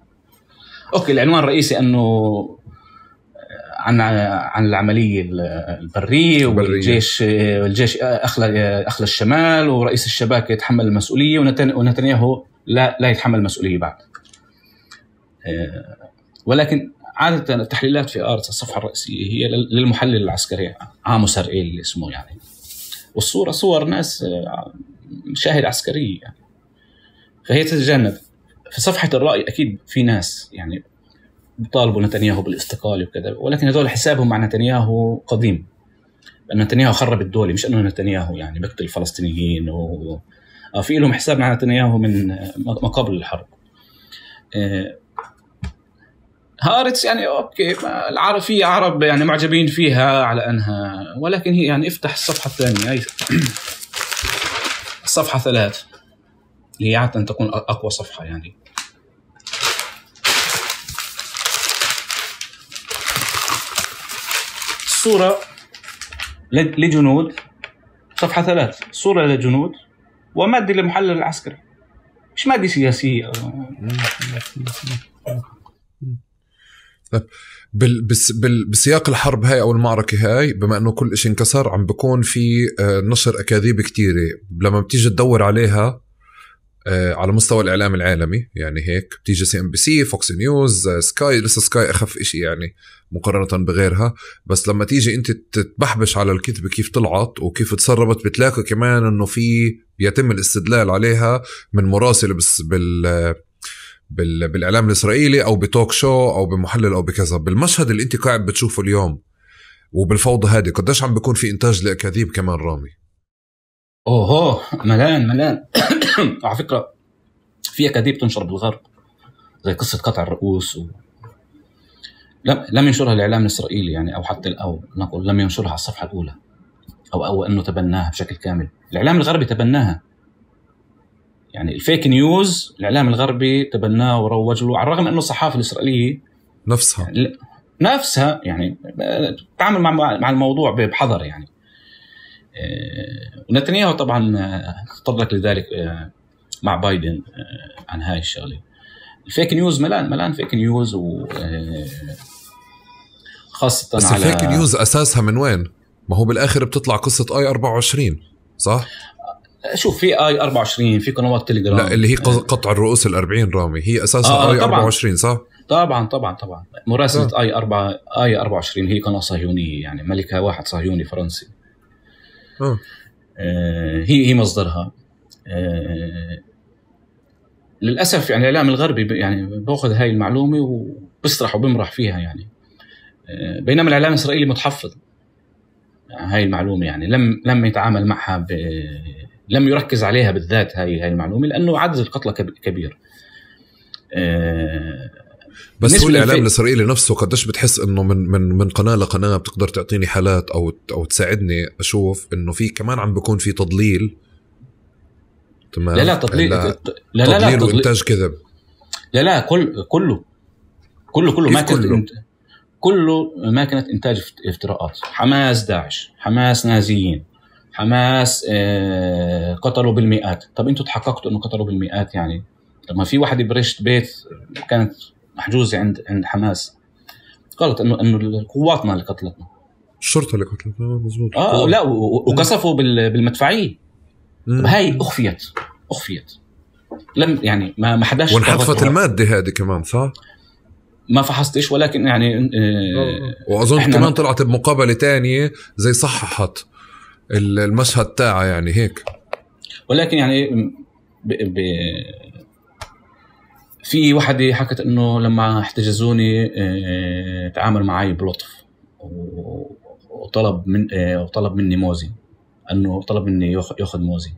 أوكي العنوان الرئيسي أنه عن عن العملية البرية والجيش والجيش أخلى أخلى الشمال ورئيس الشباك يتحمل المسؤولية ونتنياهو لا لا يتحمل المسؤولية بعد. ولكن عادة التحليلات في آرتس الصفحة الرئيسية هي للمحلل العسكري عاموس هرئيل اللي اسمه يعني، والصورة صور ناس مشاهد عسكرية يعني. فهي تتجنب. في صفحة الرأي أكيد في ناس يعني بيطالبوا نتنياهو بالاستقالة وكذا، ولكن هذول حسابهم مع نتنياهو قديم، لأن نتنياهو خرب الدولة، مش أنه نتنياهو يعني بقتل الفلسطينيين و... في لهم حساب مع نتنياهو من ما قبل الحرب. هآرتس يعني أوكي العرب في عرب يعني معجبين فيها على أنها، ولكن هي يعني افتح الصفحة الثانية أي الصفحة ثلاث اللي هي عادة تكون أقوى صفحة يعني. الصورة لجنود صفحة ثلاث، صورة لجنود ومادة للمحلل العسكري، مش مادة سياسية. بال بس بال بسياق الحرب هاي أو المعركة هاي، بما أنه كل إشي انكسر عم بكون في نشر أكاذيب كتيرة لما بتيجي تدور عليها على مستوى الإعلام العالمي، يعني هيك بتيجي سي ام بي سي، فوكس نيوز، سكاي، لسه سكاي أخف إشي يعني مقارنة بغيرها. بس لما تيجي أنت تتبحبش على الكتب كيف طلعت وكيف تسربت، بتلاقي كمان أنه في يتم الاستدلال عليها من مراسل بس بال بال بالإعلام الإسرائيلي أو بتوك شو أو بمحلل أو بكذا. بالمشهد اللي أنت قاعد بتشوفه اليوم وبالفوضى هذه قديش عم بيكون في إنتاج لأكاذيب كمان رامي؟ أوه ملان ملان على فكرة في أكاذيب تنشر بالغرب زي قصة قطع الرؤوس و... لم لم ينشرها الإعلام الإسرائيلي يعني، أو حتى أو نقول لم ينشرها على الصفحة الأولى، أو أو أنه تبناها بشكل كامل. الإعلام الغربي تبناها يعني، الفيك نيوز الإعلام الغربي تبناه وروج له، على الرغم أنه الصحافة الإسرائيلية نفسها يعني نفسها يعني تعامل مع مع الموضوع بحذر يعني. ونتنياهو طبعا تطرق لذلك مع بايدن عن هاي الشغلة. الفيك نيوز ملان ملان فيك نيوز، و خاصة بس على الفيك نيوز أساسها من وين؟ ما هو بالآخر بتطلع قصة آي أربعة وعشرين صح؟ شوف في آي أربعة وعشرين في قنوات تليجرام، لا اللي هي قطع الرؤوس الأربعين رامي هي أساسها آه آي أربعة وعشرين صح؟ طبعا طبعا طبعا مراسلة آه. آي أربعة آي أربعة وعشرين هي قناة صهيونية يعني، ملكها واحد صهيوني فرنسي. آه. آه هي هي مصدرها. آه للأسف يعني الإعلام الغربي يعني بأخذ هاي المعلومة وبسرح وبمرح فيها يعني. آه بينما الإعلام الإسرائيلي متحفظ يعني هاي المعلومة يعني، لم لم يتعامل معها ب لم يركز عليها بالذات هاي هاي المعلومة، لأنه عدد القتلى كبير. آه بس هو الإعلام الإسرائيلي نفسه قديش بتحس إنه من من من قناة لقناة بتقدر تعطيني حالات أو أو تساعدني أشوف إنه في كمان عم بيكون في تضليل. تمام. لا لا تضليل لا لا لا تضليل وإنتاج كذب. لا لا كل كله كله كله ما كله انت... كله ما كانت إنتاج افتراءات. حماس داعش، حماس نازيين، حماس آه قتلوا بالمئات. طب أنتوا تحققتوا إنه قتلوا بالمئات يعني؟ طب ما في واحد برشت بيت كانت محجوزة عند عند حماس، قالت إنه إنه قواتنا اللي قتلتنا. الشرطة اللي قتلت مزبوط. اه لا وقصفوا بالمدفعية. هاي أخفيت أخفيت لم يعني ما ما حداش. وانحذفت المادة هذه كمان صح؟ ما فحصتش ولكن يعني آه وأظن كمان طلعت بمقابلة تانية زي صححت المشهد تاعها يعني هيك. ولكن يعني ب... ب... في وحدة حكت إنه لما احتجزوني اه... تعامل معي بلطف وطلب من اه... وطلب مني موزي أنه طلب مني يأخذ موزي.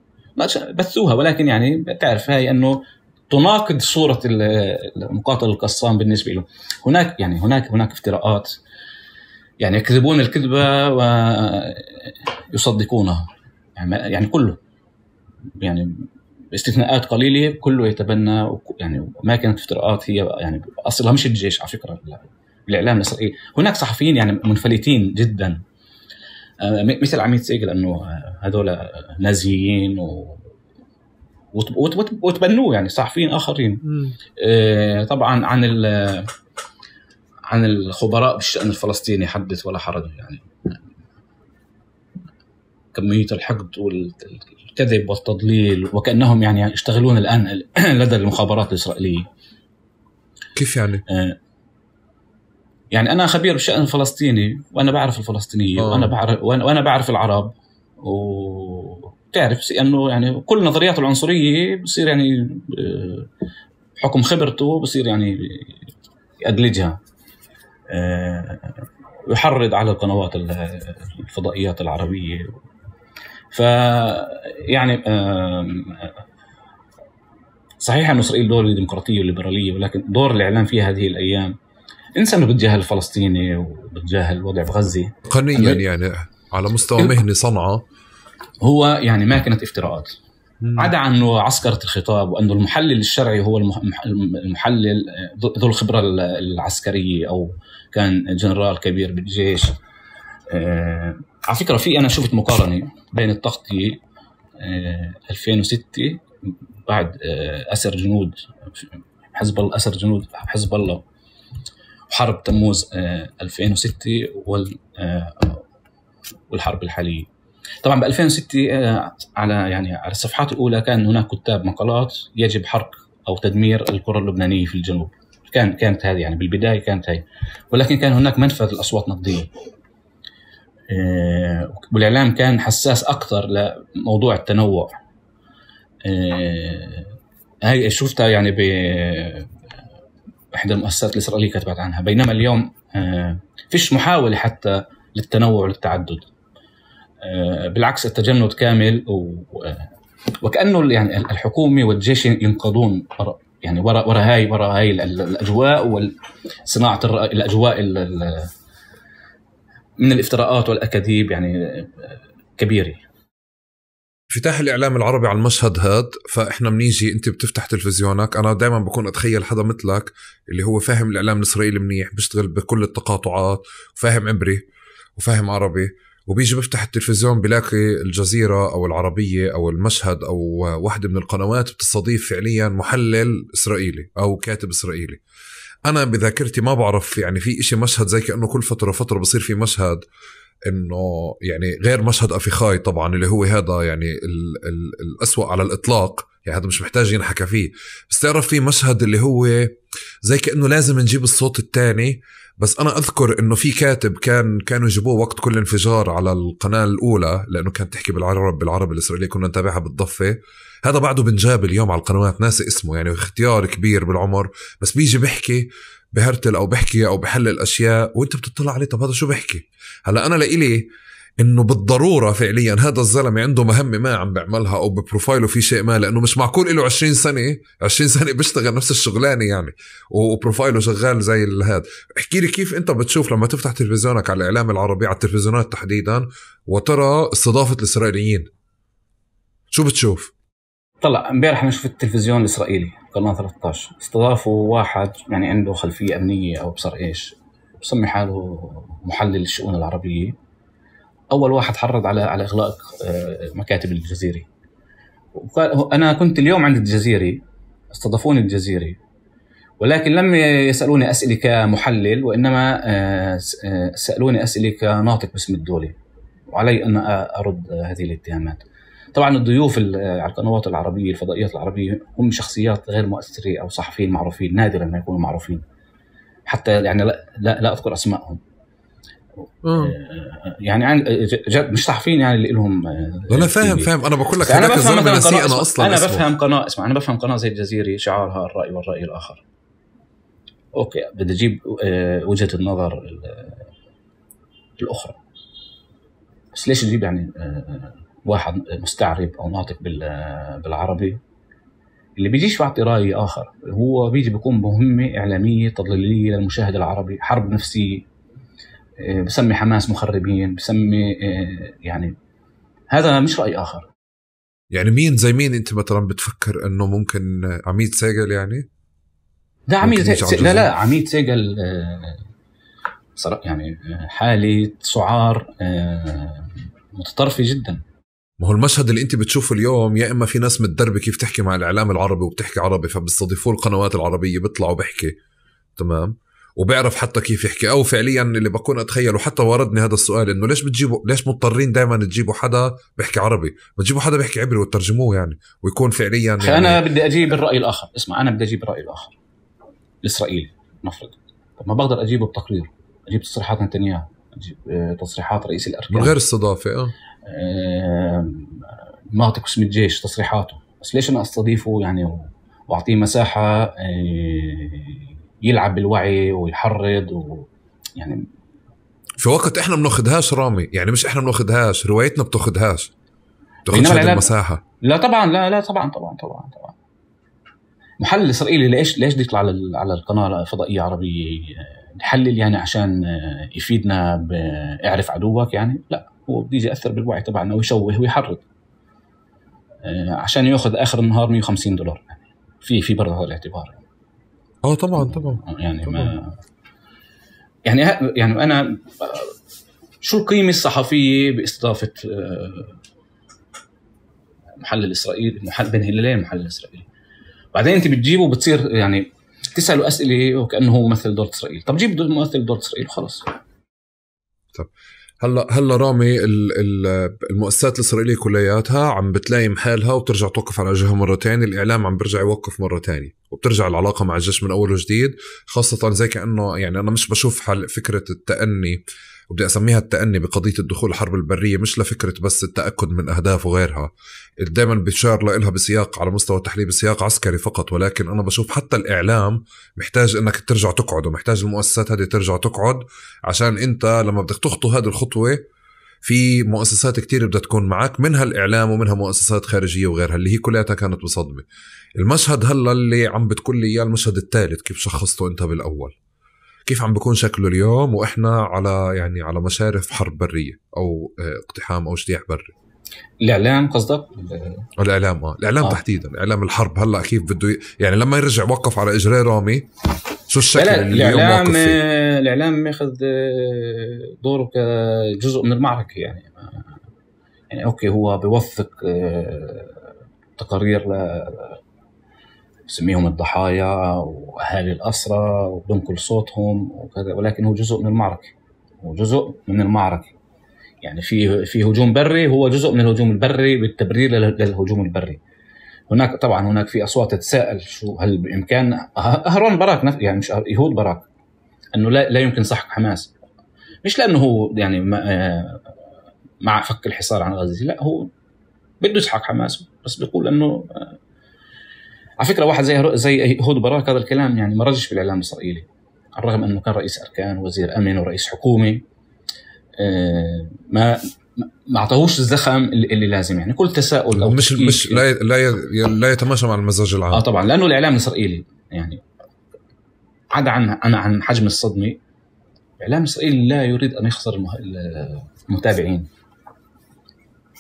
بثوها ولكن يعني بتعرف هاي أنه تناقض صورة المقاتل القصام بالنسبة له. هناك يعني هناك هناك افتراءات يعني يكذبون الكذبة ويصدقونها يعني, يعني كله يعني باستثناءات قليلة كله يتبنى يعني ما كانت افتراءات هي يعني أصلها مش الجيش على فكرة الإعلام الإسرائيلي. هناك صحفيين يعني منفلتين جدا مثل عميد سيجل أنه هذول نازيين و وتبنوه يعني صحفيين آخرين. آه طبعا عن عن الخبراء بالشأن الفلسطيني حدث ولا حرج يعني كمية الحقد والكذب والتضليل وكأنهم يعني يشتغلون الآن لدى المخابرات الإسرائيلية. كيف يعني؟ آه يعني أنا خبير بالشأن الفلسطيني وأنا بعرف الفلسطينية وأنا بعرف وأنا بعرف العرب و تعرف أنه يعني كل نظريات العنصرية بصير يعني حكم خبرته بصير يعني يأدلجها ويحرض على القنوات الفضائيات العربية. ف يعني صحيح أن إسرائيل دور ديمقراطية وليبرالية ولكن دور الإعلام فيها هذه الأيام إنسان بتجاهل الفلسطيني وبتجاهل الوضع بغزة قانونيا يعني على مستوى مهني صنعة هو يعني ما كانت افتراءات عدا عنه عسكرة الخطاب وأنه المحلل الشرعي هو المحلل ذو الخبرة العسكرية أو كان جنرال كبير بالجيش. آه على فكرة في أنا شفت مقارنة بين التغطية آه ألفين وستة بعد آه أسر جنود حزب الله أسر جنود حزب الله وحرب تموز آه ألفين وستة وال آه والحرب الحالية. طبعا ب ألفين وستة على يعني على الصفحات الأولى كان هناك كتاب مقالات يجب حرق أو تدمير القرى اللبنانية في الجنوب. كان كانت هذه يعني بالبداية كانت هاي ولكن كان هناك منفذ الأصوات نقدية. والإعلام كان حساس أكثر لموضوع التنوع. هاي شفتها يعني بإحدى المؤسسات الإسرائيلية كتبت عنها. بينما اليوم فيش محاولة حتى للتنوع والتعدد بالعكس التجمد كامل وكأنه يعني الحكومة والجيش ينقضون يعني وراء وراء هاي وراء هاي الأجواء والصناعة الأجواء من الافتراءات والأكاذيب يعني كبيرة. انفتاح الإعلام العربي على المشهد هاد فإحنا منيجي أنت بتفتح تلفزيونك أنا دايما بكون أتخيل حدا مثلك اللي هو فاهم الإعلام الإسرائيلي منيح بيشتغل بكل التقاطعات وفاهم عبري وفاهم عربي وبيجي بفتح التلفزيون بلاقي الجزيرة أو العربية أو المشهد أو واحدة من القنوات بتستضيف فعليا محلل إسرائيلي أو كاتب إسرائيلي. أنا بذاكرتي ما بعرف يعني في إشي مشهد زي كأنه كل فترة فترة بصير في مشهد إنه يعني غير مشهد أفيخاي طبعا اللي هو هذا يعني ال ال الأسوأ على الإطلاق يعني هذا مش محتاج ينحكى فيه بس تعرف في مشهد اللي هو زي كأنه لازم نجيب الصوت الثاني. بس أنا أذكر إنه في كاتب كان كانوا يجيبوه وقت كل انفجار على القناة الأولى لأنه كانت تحكي بالعرب بالعربي الإسرائيلي كنا نتابعها بالضفة. هذا بعده بنجاب اليوم على القنوات ناسي اسمه يعني اختيار كبير بالعمر بس بيجي بيحكي بهرتل أو بحكي أو بحلل أشياء وأنت بتطلع عليه طب هذا شو بحكي. هلأ أنا لإلي إنه بالضرورة فعليا هذا الزلمة عنده مهمة ما عم بعملها أو ببروفايله في شيء ما لأنه مش معقول إله عشرين سنة عشرين سنة بيشتغل نفس الشغلانة يعني وبروفايله شغال زي هذا. احكي لي كيف أنت بتشوف لما تفتح تلفزيونك على الإعلام العربي على التلفزيونات تحديدا وترى استضافة الإسرائيليين شو بتشوف؟ طلع امبارح أنا شفت التلفزيون الإسرائيلي قناة ثلاثة عشر استضافوا واحد يعني عنده خلفية أمنية أو بصر إيش بسمي حاله محلل الشؤون العربية. أول واحد حرض على على إغلاق مكاتب الجزيرة. أنا كنت اليوم عند الجزيرة استضافوني الجزيرة ولكن لم يسألوني أسئلة كمحلل، وإنما سألوني أسئلة كناطق باسم الدولة، وعلي أن أرد هذه الاتهامات. طبعا الضيوف على القنوات العربية الفضائيات العربية هم شخصيات غير مؤثرة أو صحفيين معروفين، نادرا ما يكونوا معروفين، حتى يعني لا, لا, لا أذكر أسمائهم. يعني مش صحفيين يعني اللي لهم. أنا فاهم فاهم أنا بقول لك أنا بفهم أنا أنا أصلا أنا بفهم قناة اسمع أنا بفهم قناة زي الجزيرة شعارها الرأي والرأي الآخر. أوكي بدي أجيب وجهة النظر الأخرى، بس ليش تجيب يعني واحد مستعرب أو ناطق بالعربي اللي بيجيش يعطي رأي آخر، هو بيجي بيكون مهمة إعلامية تضليلية للمشاهد العربي، حرب نفسية، بسمي حماس مخربين، بسمي يعني هذا مش رأي آخر. يعني مين زي مين أنت مثلا بتفكر أنه ممكن عميد سيجل؟ يعني ده عميد سيجل لا لا عميد سيجل صراحة يعني حالة سعار متطرفة جدا. ما هو المشهد اللي انت بتشوفه اليوم، يا اما في ناس متدربه كيف تحكي مع الاعلام العربي وبتحكي عربي فبيستضيفوا القنوات العربيه بيطلعوا بحكي تمام وبيعرف حتى كيف يحكي، او فعليا اللي بكون اتخيل وحتى وردني هذا السؤال انه ليش بتجيبوا ليش مضطرين دائما تجيبوا حدا بيحكي عربي، بتجيبوا حدا بيحكي عبري وترجموه يعني ويكون فعليا يعني. انا بدي اجيب الراي الاخر، اسمع انا بدي اجيب الراي الاخر الاسرائيلي نفرض، طب ما بقدر اجيبه بتقرير، اجيب تصريحات نتنياهو، اجيب تصريحات رئيس الاركان من غير استضافه اه ناطق اسم الجيش تصريحاته، بس ليش انا استضيفه يعني واعطيه مساحه يلعب بالوعي ويحرض و يعني في وقت احنا بناخدهاش رامي، يعني مش احنا بناخدهاش، روايتنا بتاخدهاش بتاخدش هذه المساحه. لا طبعا لا لا طبعا طبعا طبعا طبعا محلل اسرائيلي ليش ليش بده يطلع على على القناه الفضائيه عربيه يحلل يعني عشان يفيدنا باعرف عدوك؟ يعني لا، هو بده يجي ياثر بالوعي تبعنا ويشوه ويحرض عشان ياخذ اخر النهار مية وخمسين دولار. في في برضه هذا الاعتبار. اه طبعا طبعا يعني طبعا. ما يعني يعني انا شو القيمه الصحفيه باستضافه محلل اسرائيلي محل بين هلالين محلل اسرائيلي، بعدين انت بتجيبه وبتصير يعني تساله اسئله وكانه هو ممثل دوله اسرائيل. طب جيب ممثل دوله اسرائيل وخلص. طب هلا هلا رامي المؤسسات الاسرائيليه كلياتها عم بتلاقي حالها وبترجع توقف على وجهها مره ثانيه، الاعلام عم بيرجع يوقف مره ثانيه وبترجع العلاقه مع الجيش من اول وجديد، خاصه زي كانه يعني انا مش بشوف حل فكره التأني، وبدي اسميها التأني بقضيه الدخول الحرب البريه، مش لفكره بس التاكد من اهداف وغيرها، دائما بيشار لها بسياق على مستوى التحليل بسياق عسكري فقط، ولكن انا بشوف حتى الاعلام محتاج انك ترجع تقعد، ومحتاج المؤسسات هذه ترجع تقعد، عشان انت لما بدك تخطو هذه الخطوه في مؤسسات كتير بدها تكون معك، منها الإعلام ومنها مؤسسات خارجية وغيرها اللي هي كلها كانت بصدمة. المشهد هلا اللي عم بتقول لي إياه المشهد الثالث كيف شخصته أنت بالأول، كيف عم بيكون شكله اليوم وإحنا على يعني على مشارف حرب برية أو اقتحام أو اجتياح بري؟ الإعلام قصدك؟ الإعلام آه الإعلام آه. تحديدا إعلام الحرب هلا كيف بده يعني لما يرجع وقف على إجراء رامي شو الشكل اللي اليوم واقف فيه؟ الإعلام ياخذ دوره كجزء من المعركة يعني يعني أوكي هو بيوثق تقارير ل سميهم الضحايا وأهالي الأسرى وبنقل صوتهم وكذا، ولكن هو جزء من المعركة، هو جزء من المعركة يعني في في هجوم بري، هو جزء من الهجوم البري بالتبرير للهجوم البري. هناك طبعا هناك في أصوات تتساءل شو هل بإمكان أهرون باراك يعني مش يهود باراك أنه لا لا يمكن سحق حماس، مش لأنه هو يعني مع فك الحصار عن غزة، لا هو بده يسحق حماس، بس بيقول أنه على فكرة واحد زي زي يهود باراك هذا الكلام يعني ما رجش في الإعلام الإسرائيلي، على الرغم أنه كان رئيس أركان وزير أمن ورئيس حكومة، ما ما اعطاهوش الزخم اللي لازم يعني كل تساؤل أو مش مش لا لا لا يتماشى مع المزاج العام. اه طبعا لانه الاعلام الاسرائيلي يعني عدا عن عن عن حجم الصدمه، الاعلام الاسرائيلي لا يريد ان يخسر المتابعين،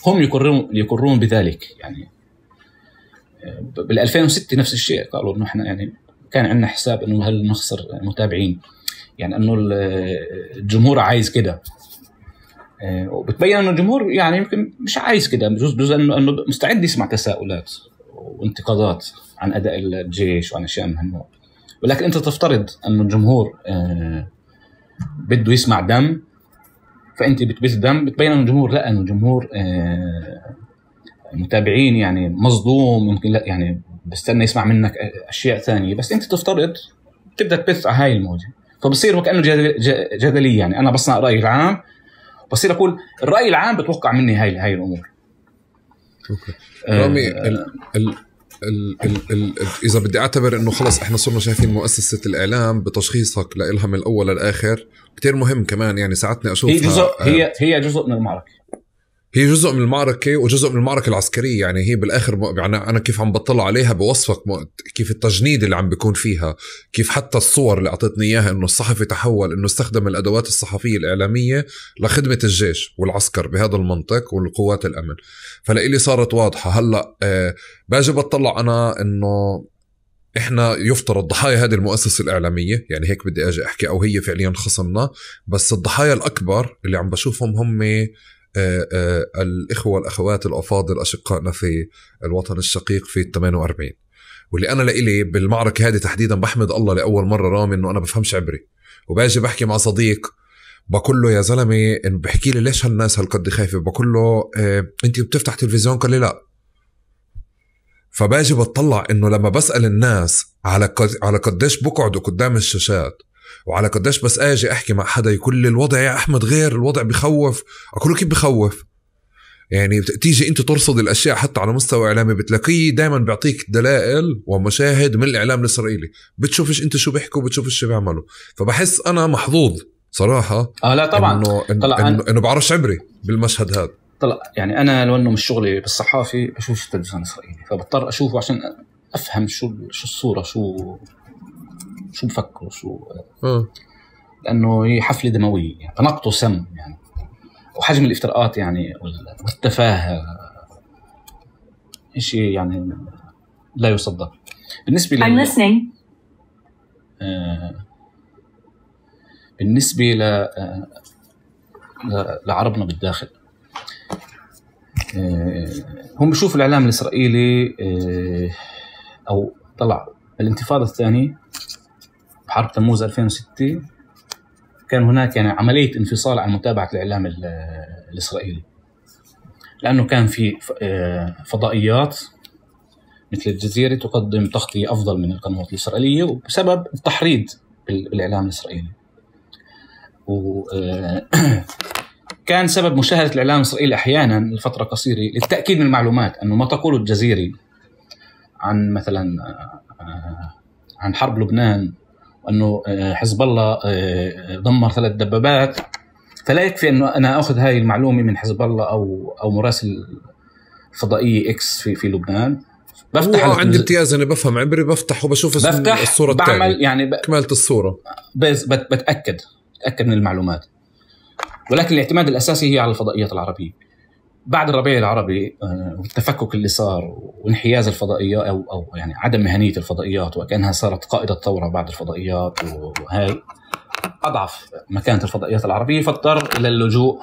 هم يقرون يقرون بذلك يعني. بال ألفين وستة نفس الشيء قالوا انه احنا يعني كان عندنا حساب انه هل نخسر متابعين يعني انه الجمهور عايز كده، وبتبين انه الجمهور يعني يمكن مش عايز كده، بجوز بجوز انه انه مستعد يسمع تساؤلات وانتقادات عن اداء الجيش وعن اشياء من هالنوع، ولكن أنت تفترض أنه الجمهور آه بده يسمع دم، فأنت بتبث دم، بتبين أن الجمهور لا، أنه الجمهور آه متابعين يعني مصدوم، ممكن لا يعني بستنى يسمع منك أشياء ثانية، بس أنت تفترض تبدأ تبث على هاي الموجة، فبصير وكأنه جدلي. يعني أنا بصنع رأي العام، بصير أقول الرأي العام بتوقع مني هاي هاي الأمور. أوكي. رامي آه ال ال ال ال ال إذا بدي أعتبر إنه خلص إحنا صرنا شايفين مؤسسة الإعلام بتشخيصك لإلها من الأول للآخر كتير مهم كمان. يعني ساعتني أشوفها هي جزء هي هي جزء من المعركة، هي جزء من المعركة وجزء من المعركة العسكرية. يعني هي بالآخر يعني أنا كيف عم بطلع عليها بوصفك كيف التجنيد اللي عم بيكون فيها، كيف حتى الصور اللي أعطتني إياها إنه الصحفي تحول إنه استخدم الأدوات الصحفية الإعلامية لخدمة الجيش والعسكر بهذا المنطق والقوات الأمن. فلإلي صارت واضحة هلأ. آه باجي بطلع أنا إنه إحنا يفترض ضحايا هذه المؤسسة الإعلامية، يعني هيك بدي أجي أحكي، أو هي فعليا خصمنا، بس الضحايا الأكبر اللي عم بشوفهم هم آه آه الإخوة والأخوات الأفاضل أشقائنا في الوطن الشقيق في الثمانية وأربعين. واللي أنا لإلي بالمعركة هذه تحديدا بحمد الله لأول مرة رامي إنه أنا بفهمش عبري، وباجي بحكي مع صديق بقول له يا زلمة إن بحكي لي ليش هالناس هالقد خايفة، بقول له آه أنت بتفتح تلفزيون؟ قال لي لا. فباجي بطلع إنه لما بسأل الناس على قد على قديش بقعدوا قدام الشاشات وعلى قديش بس اجي احكي مع حدا يقول لي الوضع يا احمد غير، الوضع بخوف. اقول له كيف بخوف؟ يعني تيجي انت ترصد الاشياء حتى على مستوى اعلامي بتلاقيه دائما بيعطيك دلائل ومشاهد من الاعلام الاسرائيلي، بتشوفش انت شو بيحكوا بتشوفش شو بيعملوا. فبحس انا محظوظ صراحه اه لا طبعا انه انه, إنه, إنه بعرفش عبري بالمشهد هذا. طلع يعني انا لو انه مش شغلي بالصحافي بشوف التلفزيون الاسرائيلي، فبضطر اشوفه عشان افهم شو شو الصوره، شو شو بفكروا شو اه لأنه هي حفلة دموية يعني تنقطه سم يعني، وحجم الافتراءات يعني والتفاهة شيء يعني لا يصدق. بالنسبة لل... آه... بالنسبة ل... آه... ل... لعربنا بالداخل، آه... هم بيشوفوا الإعلام الإسرائيلي آه... أو طلع الانتفاضة الثانية بحرب تموز ألفين وستة كان هناك يعني عملية انفصال عن متابعة الإعلام الإسرائيلي، لأنه كان في فضائيات مثل الجزيرة تقدم تغطية أفضل من القنوات الإسرائيلية وبسبب التحريض بالإعلام الإسرائيلي. وكان سبب مشاهدة الإعلام الإسرائيلي أحيانا لفترة قصيرة للتأكيد من المعلومات، أنه ما تقوله الجزيرة عن مثلا عن حرب لبنان وأنه حزب الله دمر ثلاث دبابات، فلا يكفي أنه أنا أخذ هاي المعلومة من حزب الله أو أو مراسل فضائية إكس في في لبنان. بفتح عندي امتياز أنا بفهم عبري، بفتح وبشوف الصورة الثانية يعني ب... كمالة الصورة، بس بتأكد بتأكد من المعلومات. ولكن الاعتماد الأساسي هي على الفضائيات العربية. بعد الربيع العربي والتفكك اللي صار وانحياز الفضائيات أو أو يعني عدم مهنية الفضائيات وكأنها صارت قائدة ثورة بعد الفضائيات، وهاي أضعف مكانة الفضائيات العربية، فاضطر إلى اللجوء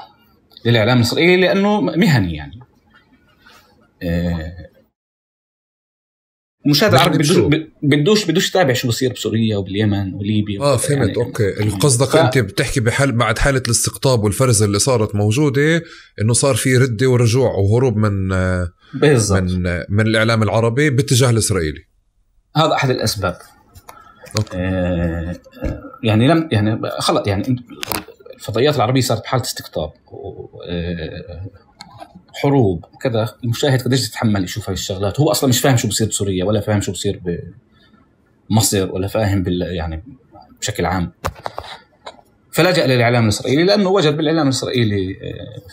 للإعلام الإسرائيلي لأنه مهني يعني. المشاهد العربي بدوش بدوش بدوش تابع شو بصير بسوريا وباليمن وليبيا. اه فهمت يعني. اوكي القصدك ف... انت بتحكي بحال بعد حاله الاستقطاب والفرز اللي صارت موجوده، انه صار في رده ورجوع وهروب من بالزبط. من من الاعلام العربي باتجاه الاسرائيلي. هذا احد الاسباب. آه يعني لم يعني خلص يعني الفضائيات العربيه صارت بحاله استقطاب حروب كذا، المشاهد قديش يتحمل يشوف هاي الشغلات؟ هو اصلا مش فاهم شو بصير بسوريا ولا فاهم شو بصير بمصر ولا فاهم بال يعني بشكل عام، فلجأ للإعلام الإسرائيلي لأنه وجد بالإعلام الإسرائيلي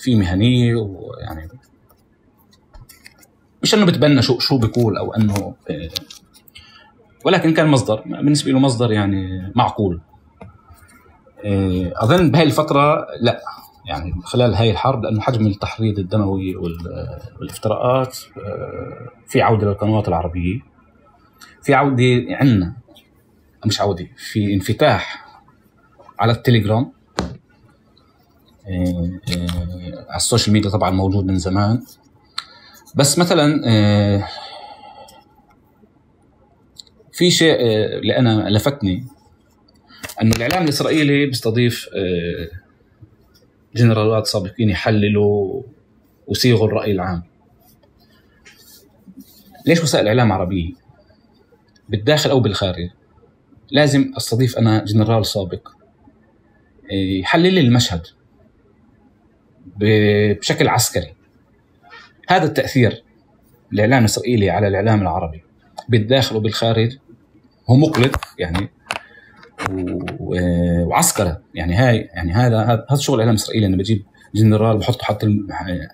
في مهنية، ويعني مش أنه بتبنى شو شو بيقول أو أنه، ولكن كان مصدر بالنسبة له مصدر يعني معقول. أظن بهاي الفترة لا يعني خلال هاي الحرب، لأنه حجم التحريض الدموي والافتراءات في عودة للقنوات العربية، في عودة عنا مش عودة في انفتاح على التليجرام، على السوشيال ميديا طبعا موجود من زمان، بس مثلا في شيء اللي أنا لفتني أنه الإعلام الإسرائيلي بيستضيف جنرالات سابقين يحللوا ويصيغوا الرأي العام. ليش وسائل الإعلام عربية بالداخل أو بالخارج لازم أستضيف أنا جنرال سابق يحلل لي المشهد بشكل عسكري؟ هذا التأثير الإعلام الإسرائيلي على الإعلام العربي بالداخل وبالخارج هو مقلق يعني وعسكرة يعني. هاي يعني هذا هذا شغل الإعلام الإسرائيلي. أنا بجيب جنرال بحطه حتى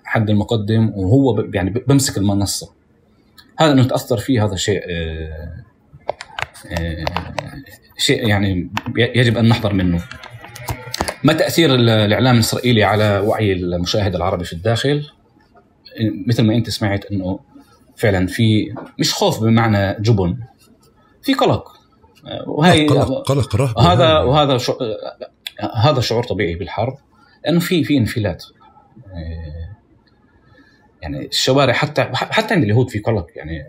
حد المقدم وهو يعني بمسك المنصة. هذا إنه تأثر فيه هذا شيء شيء يعني يجب أن نحذر منه. ما تأثير الإعلام الإسرائيلي على وعي المشاهد العربي في الداخل؟ مثل ما أنت سمعت إنه فعلا في مش خوف بمعنى جبن، في قلق. وهي قلق قلق رهبة. هذا وهذا شو هذا شعور طبيعي بالحرب، لأنه في في انفلات يعني. الشوارع حتى حتى عند اليهود في قلق يعني.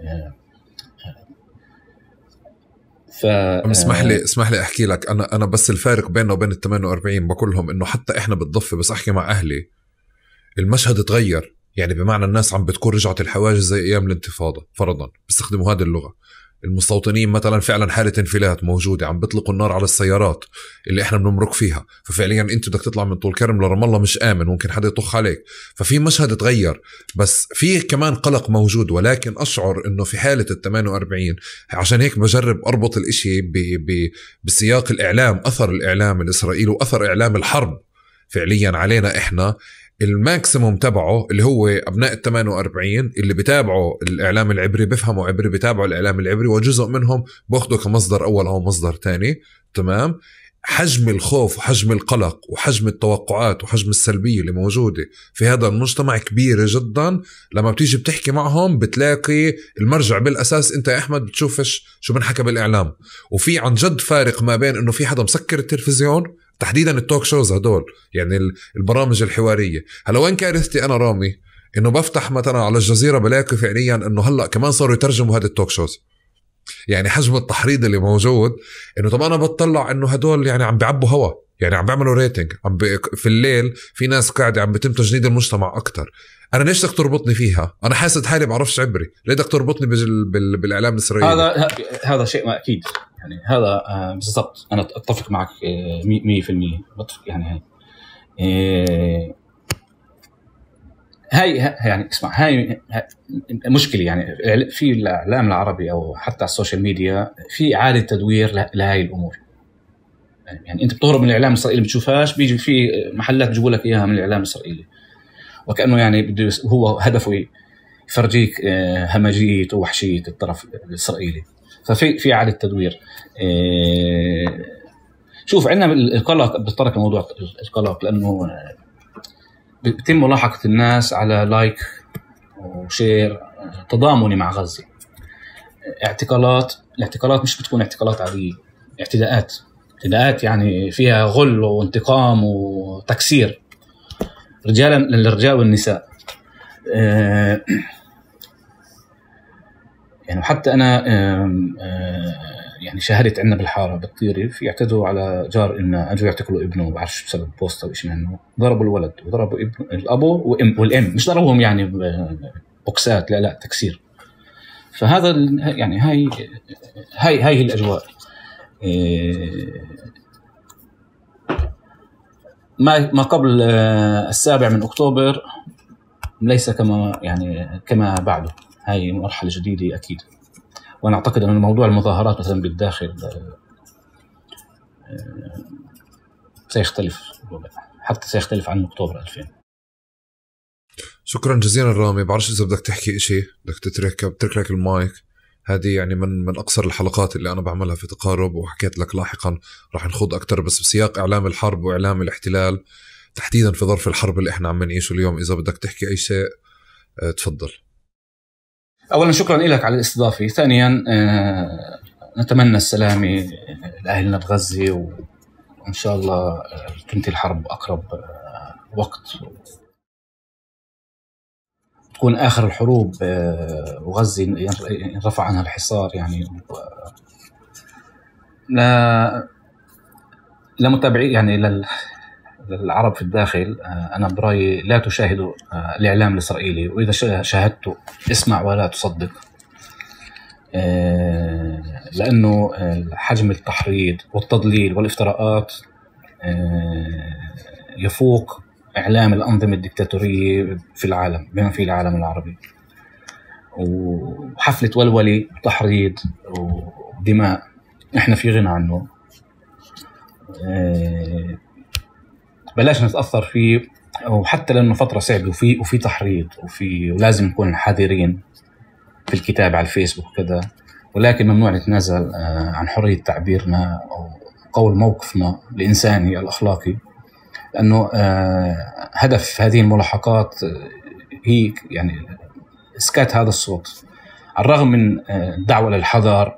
ف اسمح لي اسمح لي احكي لك انا انا بس الفارق بيننا وبين ال ثمانية وأربعين بقول لهم انه حتى احنا بالضفه بس احكي مع اهلي المشهد اتغير يعني. بمعنى الناس عم بتكون رجعت الحواجز زي ايام الانتفاضه فرضا، بيستخدموا هذه اللغه. المستوطنين مثلا فعلا حاله انفلات موجوده، عم بيطلقوا النار على السيارات اللي احنا بنمرق فيها. ففعليا انت بدك تطلع من طول كرم لرام الله مش امن، ممكن حدا يطخ عليك. ففي مشهد تغير، بس في كمان قلق موجود. ولكن اشعر انه في حاله ال ثمانية وأربعين عشان هيك بجرب اربط الاشي ب ب بسياق الاعلام، اثر الاعلام الاسرائيلي واثر اعلام الحرب فعليا علينا احنا. الماكسيموم تبعه اللي هو أبناء الثمانية وأربعين اللي بتابعوا الإعلام العبري، بيفهموا عبري، بتابعوا الإعلام العبري، وجزء منهم باخده كمصدر أول أو مصدر تاني. تمام. حجم الخوف وحجم القلق وحجم التوقعات وحجم السلبية اللي موجودة في هذا المجتمع كبيرة جدا. لما بتيجي بتحكي معهم بتلاقي المرجع بالأساس أنت يا أحمد بتشوفش شو بنحكى بالإعلام. وفي عن جد فارق ما بين أنه في حدا مسكر التلفزيون، تحديدا التوك شوز هدول يعني البرامج الحوارية. هلا وين كارثتي أنا رامي؟ إنه بفتح مثلا على الجزيرة بلاقي فعليا إنه هلأ كمان صاروا يترجموا هذا التوك شوز. يعني حجم التحريض اللي موجود إنه طبعا أنا بتطلع إنه هدول يعني عم بيعبوا هوا، يعني عم بيعملوا ريتنج. عم بي في الليل في ناس قاعدة عم بتم تجنيد المجتمع أكتر. أنا ليش بدك تربطني فيها؟ أنا حاسد حالي بعرفش عبري، ليه بدك تربطني بال... بال... بالإعلام الإسرائيلي؟ هذا هذا شيء ما أكيد يعني. هذا بالضبط أنا أتفق معك مية في المية يعني. هاي هاي يعني اسمع، هاي مشكلة يعني في الإعلام العربي أو حتى السوشيال ميديا في إعادة تدوير لهاي الأمور. يعني أنت بتهرب من الإعلام الإسرائيلي بتشوفهاش، بيجي في محلات بيجيبوا لك إياها من الإعلام الإسرائيلي، وكأنه يعني بده هو هدفه يفرجيك همجية ووحشية الطرف الإسرائيلي. ففي في إعادة تدوير. شوف عندنا القلق، بتطرق الموضوع القلق لأنه بتم ملاحقة الناس على لايك وشير تضامني مع غزة. اعتقالات، الاعتقالات مش بتكون اعتقالات عادية، اعتداءات اعتداءات يعني فيها غل وانتقام وتكسير رجالا للرجال والنساء. يعني حتى أنا يعني شاهدت عندنا بالحارة بالطيري في يعتدوا على جار إنه أجوا يعتقلوا ابنه، بعرفش بسبب بوست أو إيش منه. ضربوا الولد وضربوا ابن الأبو وإم والإم، مش ضربوهم يعني بوكسات، لا لا تكسير. فهذا يعني هاي هاي هاي الأجواء. ما ما قبل السابع من أكتوبر ليس كما يعني كما بعده. هاي مرحلة جديدة أكيد. وأنا أعتقد أن موضوع المظاهرات مثلا بالداخل سيختلف، حتى سيختلف عن أكتوبر ألفين. شكرا جزيلا رامي. بعرفش إذا بدك تحكي إشي، بدك تترك بترك لك المايك. هذه يعني من من أقصر الحلقات اللي أنا بعملها في تقارب، وحكيت لك لاحقا راح نخوض أكتر بس بسياق إعلام الحرب وإعلام الاحتلال تحديدا في ظرف الحرب اللي إحنا عم نعيشه اليوم. إذا بدك تحكي أي شيء تفضل. أولا شكرا لك على الاستضافة. ثانيا نتمنى السلامة لأهلنا بغزة، وإن شاء الله تنتهي الحرب أقرب وقت، تكون آخر الحروب وغزة ينرفع عنها الحصار يعني، لا لمتابعي يعني لل... للعرب في الداخل، أنا برأيي لا تشاهدوا الإعلام الإسرائيلي، وإذا شاهدته اسمع ولا تصدق، لأنه حجم التحريض والتضليل والافتراءات يفوق إعلام الأنظمة الدكتاتورية في العالم بما فيه العالم العربي. وحفلة ولولي وتحريض ودماء إحنا في غنى عنه، بلاش نتأثر فيه، وحتى لأنه فترة صعبة وفي وفي تحريض وفي ولازم نكون حذرين في الكتاب على الفيسبوك وكذا، ولكن ممنوع نتنازل عن حرية تعبيرنا أو قول موقفنا الإنساني الأخلاقي، لأنه هدف هذه الملاحقات هي يعني إسكات هذا الصوت، على الرغم من الدعوة للحذر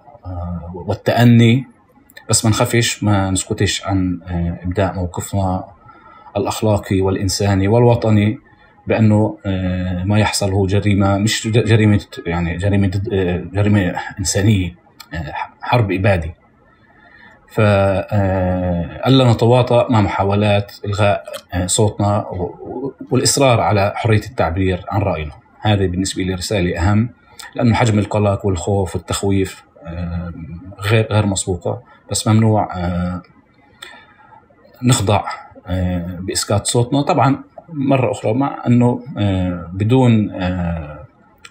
والتأني، بس ما نخافش ما نسكتش عن إبداء موقفنا الأخلاقي والإنساني والوطني، بأنه ما يحصل هو جريمة، مش جريمة يعني جريمة جريمة إنسانية، حرب إبادي. فألا نتواطأ مع محاولات إلغاء صوتنا والإصرار على حرية التعبير عن رأينا. هذه بالنسبة لي رسالة أهم، لأنه حجم القلق والخوف والتخويف غير غير مسبوقة، بس ممنوع نخضع بإسكات صوتنا. طبعا مرة أخرى مع أنه بدون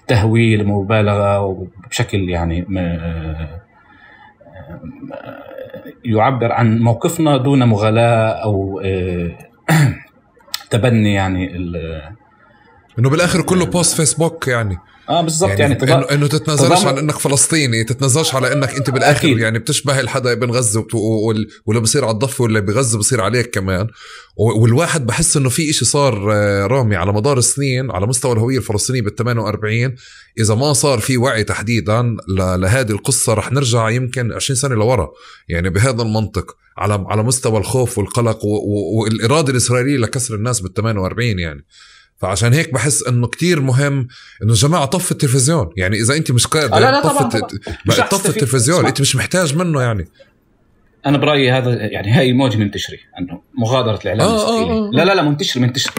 تهويل ومبالغة وبشكل يعني يعبر عن موقفنا دون مغالاة أو تبني، يعني إنه بالآخر كله بوست فيسبوك يعني اه بالضبط، يعني, يعني تضا... انه انه تتنازلش عن انك فلسطيني، تتنازلش على انك انت بالاخر أكيد. يعني بتشبه الحدا ابن غزة وال... ولا بصير على الضفة ولا بغزة بصير عليك كمان. والواحد بحس انه في اشي صار رامي على مدار السنين على مستوى الهوية الفلسطينية بالثمانية وأربعين، اذا ما صار في وعي تحديدا ل... لهذه القصة رح نرجع يمكن عشرين سنة لورا، يعني بهذا المنطق على على مستوى الخوف والقلق و... و... والإرادة الإسرائيلية لكسر الناس بالثمانية وأربعين يعني. فعشان هيك بحس انه كتير مهم انه جماعة طف التلفزيون، يعني اذا انت مش قادر لا لا طف طف التلفزيون، انت مش محتاج منه. يعني انا برأيي هذا يعني هاي موجة منتشرة انه مغادرة الاعلام آه الاسرائيلي آه آه. لا لا لا منتشر منتشر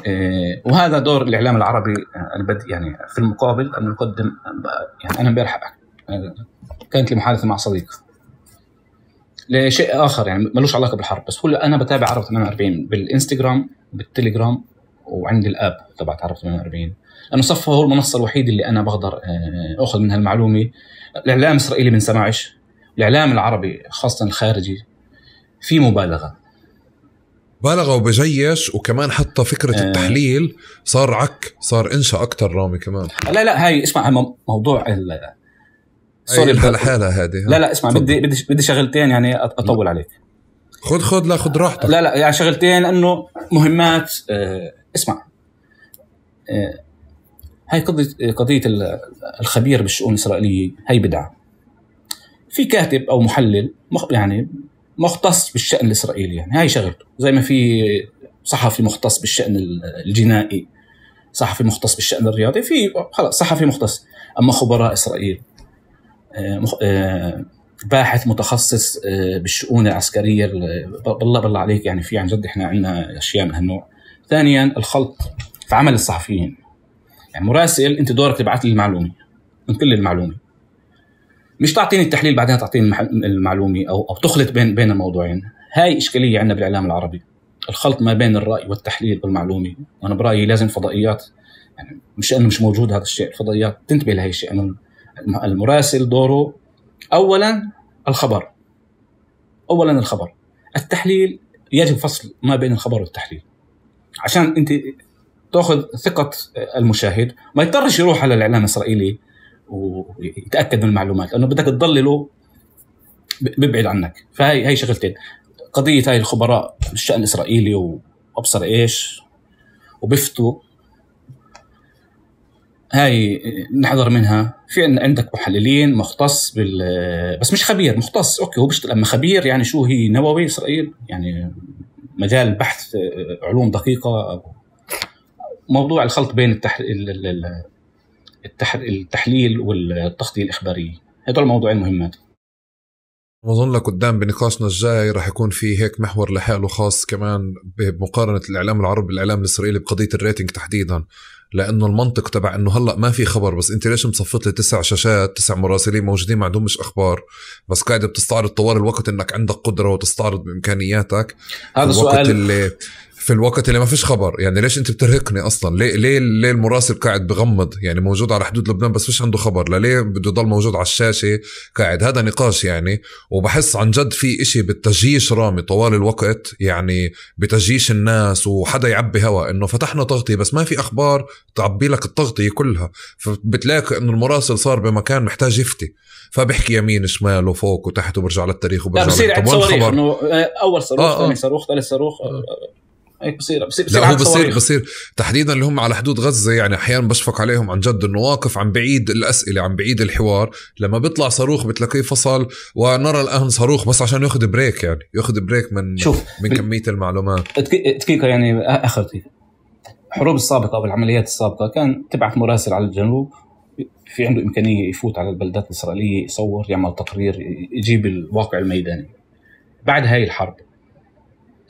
إيه، وهذا دور الاعلام العربي البدء. يعني في المقابل ان نقدم، يعني انا امبارح كانت لي محادثة مع صديق لشيء اخر يعني ملوش علاقة بالحرب، بس هو انا بتابع عرب ثمانية وأربعين بالانستغرام بالتليجرام وعندي الاب تبعت عرب ثمانية وأربعين، لانه صفه هو المنصه الوحيده اللي انا بقدر اخذ منها المعلومه. الاعلام الاسرائيلي بنسمعش، الاعلام العربي خاصه الخارجي في مبالغه بالغه وبجيش، وكمان حتى فكره آه التحليل صار عك، صار انشا اكتر رامي كمان. لا لا هاي اسمع موضوع ال سوري الحاله هذه. لا لا اسمع بدي بدي بدي شغلتين يعني اطول عليك. خد خد لا خد راحتك. لا لا يعني شغلتين انه مهمات. آه اسمع، آه هاي قضية قضية الخبير بالشؤون الإسرائيلية هاي بدعة. في كاتب أو محلل يعني مختص بالشأن الإسرائيلي، يعني هاي شغلته، زي ما في صحفي مختص بالشأن الجنائي، صحفي مختص بالشأن الرياضي، في خلاص صحفي مختص. أما خبراء إسرائيل، آه آه باحث متخصص بالشؤون العسكرية، بالله بالله عليك يعني في عن جد إحنا عندنا أشياء من هالنوع. ثانياً الخلط في عمل الصحفيين، يعني مراسل أنت دورك تبعث لي المعلومة من كل المعلومة، مش تعطيني التحليل بعدها تعطيني المعلومة أو أو تخلط بين بين الموضوعين. هاي إشكالية عندنا بالإعلام العربي، الخلط ما بين الرأي والتحليل والمعلومة. وأنا برأيي لازم فضائيات، يعني مش أنه مش موجود هذا الشيء، الفضائيات تنتبه لهي الشيء، أنه المراسل دوره أولاً الخبر، أولاً الخبر. التحليل يجب فصل ما بين الخبر والتحليل عشان أنت تأخذ ثقة المشاهد، ما يضطرش يروح على الإعلام الإسرائيلي ويتأكد من المعلومات، لأنه بدك تضلله بيبعد عنك. فهي هي شغلتين، قضية هاي الخبراء بالشأن الإسرائيلي وأبصر إيش وبفتوا، هاي نحذر منها. في عندك محللين مختص بال بس مش خبير مختص، أوكي هو بيشتغل، أما خبير يعني شو هي نووي إسرائيل، يعني مجال بحث علوم دقيقة. موضوع الخلط بين التحليل التحليل والتغطية الإخبارية، هذول الموضوعين مهمات. بظن لك قدام بنقاشنا الجاي رح يكون في هيك محور لحاله خاص كمان بمقارنة الإعلام العربي بالإعلام الإسرائيلي بقضية الريتنج تحديدا، لأنه المنطق تبع إنه هلأ ما في خبر، بس أنت ليش مصفط لي تسع شاشات تسع مراسلين موجودين ما عندهمش أخبار، بس قاعد بتستعرض طوال الوقت إنك عندك قدرة وتستعرض بإمكانياتك هذا في الوقت سؤال اللي في الوقت اللي ما فيش خبر. يعني ليش انت بترهقني اصلا؟ ليه ليه ليه المراسل قاعد بغمض يعني موجود على حدود لبنان بس فيش عنده خبر؟ لا ليه بده يضل موجود على الشاشه قاعد؟ هذا نقاش يعني. وبحس عن جد في اشي بالتجيش رامي طوال الوقت، يعني بتجيش الناس وحدا يعبي هوا انه فتحنا تغطية بس ما في اخبار تعبي لك التغطية كلها، فبتلاقي انه المراسل صار بمكان محتاج يفتي، فبحكي يمين شمال وفوق وتحت وبرجع للتاريخ وبرجع. لا بصير عند صواريخ انه اول صاروخ آه ثاني آه. صاروخ ثالث صاروخ آه. هيك بصير بصير بصير, لا هو بصير بصير تحديدا اللي هم على حدود غزة. يعني أحيانا بشفق عليهم عن جد إنه واقف عن بعيد الأسئلة عن بعيد الحوار، لما بيطلع صاروخ بتلاقيه فصل ونرى الآن صاروخ بس عشان يأخذ بريك، يعني يأخذ بريك من شوف من بال... كمية المعلومات. دقيقة يعني آخر دقيقة. الحروب السابقة والعمليات السابقة كان تبعث مراسل على الجنوب في عنده إمكانية يفوت على البلدات الإسرائيلية يصور يعمل تقرير يجيب الواقع الميداني. بعد هاي الحرب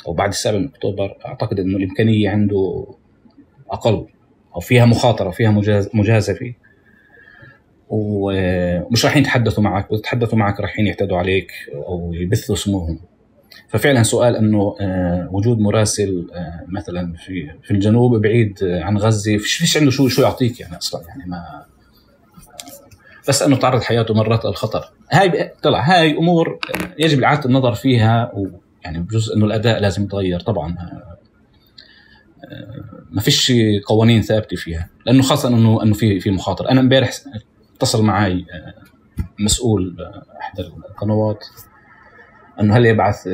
أو بعد السابع من أكتوبر أعتقد إنه الإمكانية عنده أقل أو فيها مخاطرة فيها مجازفة، ومش راح يتحدثوا معك، وتتحدثوا معك راح يعتدوا عليك أو يبثوا سموهم. ففعلا سؤال إنه وجود مراسل مثلا في في الجنوب بعيد عن غزة فيش فيش عنده شو شو يعطيك يعني أصلا، يعني ما بس إنه تعرض حياته مرات للخطر. هاي طلع هاي أمور يجب إعادة النظر فيها، و يعني بجزء إنه الأداء لازم يتغير طبعاً، ما فيش قوانين ثابتة فيها، لأنه خاصة إنه إنه في في مخاطر. أنا امبارح اتصل معي مسؤول إحدى القنوات إنه هل يبعث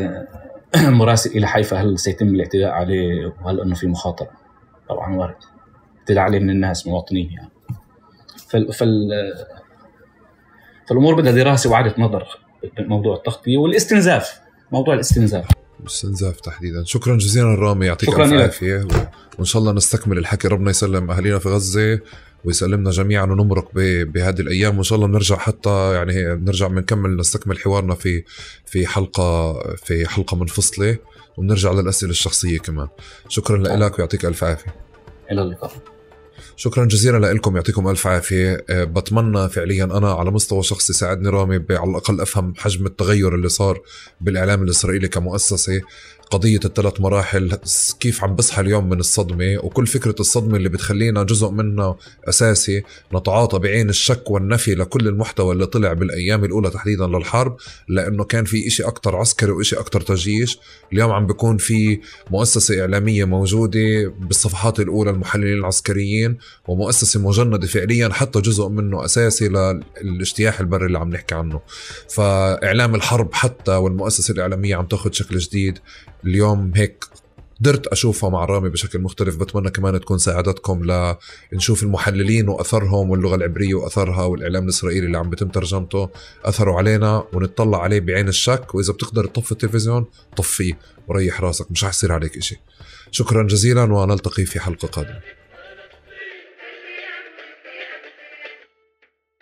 مراسل إلى حيفا هل سيتم الاعتداء عليه وهل إنه في مخاطر؟ طبعاً وارد اعتداء عليه من الناس مواطنين يعني. فال فال فالأمور بدها دراسة وإعادة نظر بموضوع التغطية والاستنزاف، موضوع الاستنزاف الاستنزاف تحديدا. شكرا جزيلا رامي، يعطيك الف عافيه، وان شاء الله نستكمل الحكي. ربنا يسلم اهالينا في غزه ويسلمنا جميعا ونمرق بهذه الايام، وان شاء الله بنرجع حتى يعني بنرجع بنكمل نستكمل حوارنا في في حلقه في حلقه منفصله، وبنرجع للاسئله الشخصيه كمان. شكرا لك ويعطيك الف عافيه. الى اللقاء. شكرا جزيلا لكم، يعطيكم ألف عافية. بتمنى فعليا أنا على مستوى شخصي ساعدني رامي على الأقل أفهم حجم التغير اللي صار بالإعلام الإسرائيلي كمؤسسة. قضية الثلاث مراحل كيف عم بصحى اليوم من الصدمة، وكل فكرة الصدمة اللي بتخلينا جزء منها أساسي نتعاطى بعين الشك والنفي لكل المحتوى اللي طلع بالأيام الأولى تحديدا للحرب، لأنه كان في إشي أكتر عسكري وإشي أكتر تجيش. اليوم عم بيكون في مؤسسة إعلامية موجودة بالصفحات الأولى المحللين العسكريين، ومؤسسة مجندة فعليا حتى جزء منه أساسي للاجتياح البري اللي عم نحكي عنه. فإعلام الحرب حتى والمؤسسة الإعلامية عم تاخد شكل جديد. اليوم هيك قدرت أشوفها مع رامي بشكل مختلف، بتمنى كمان تكون ساعدتكم لنشوف المحللين وأثرهم واللغة العبرية وأثرها والإعلام الإسرائيلي اللي عم بتم ترجمته أثروا علينا، ونطلع عليه بعين الشك. وإذا بتقدر تطفي التلفزيون طفيه وريح راسك، مش رح يصير عليك إشي. شكرا جزيلا ونلتقي في حلقة قادمة.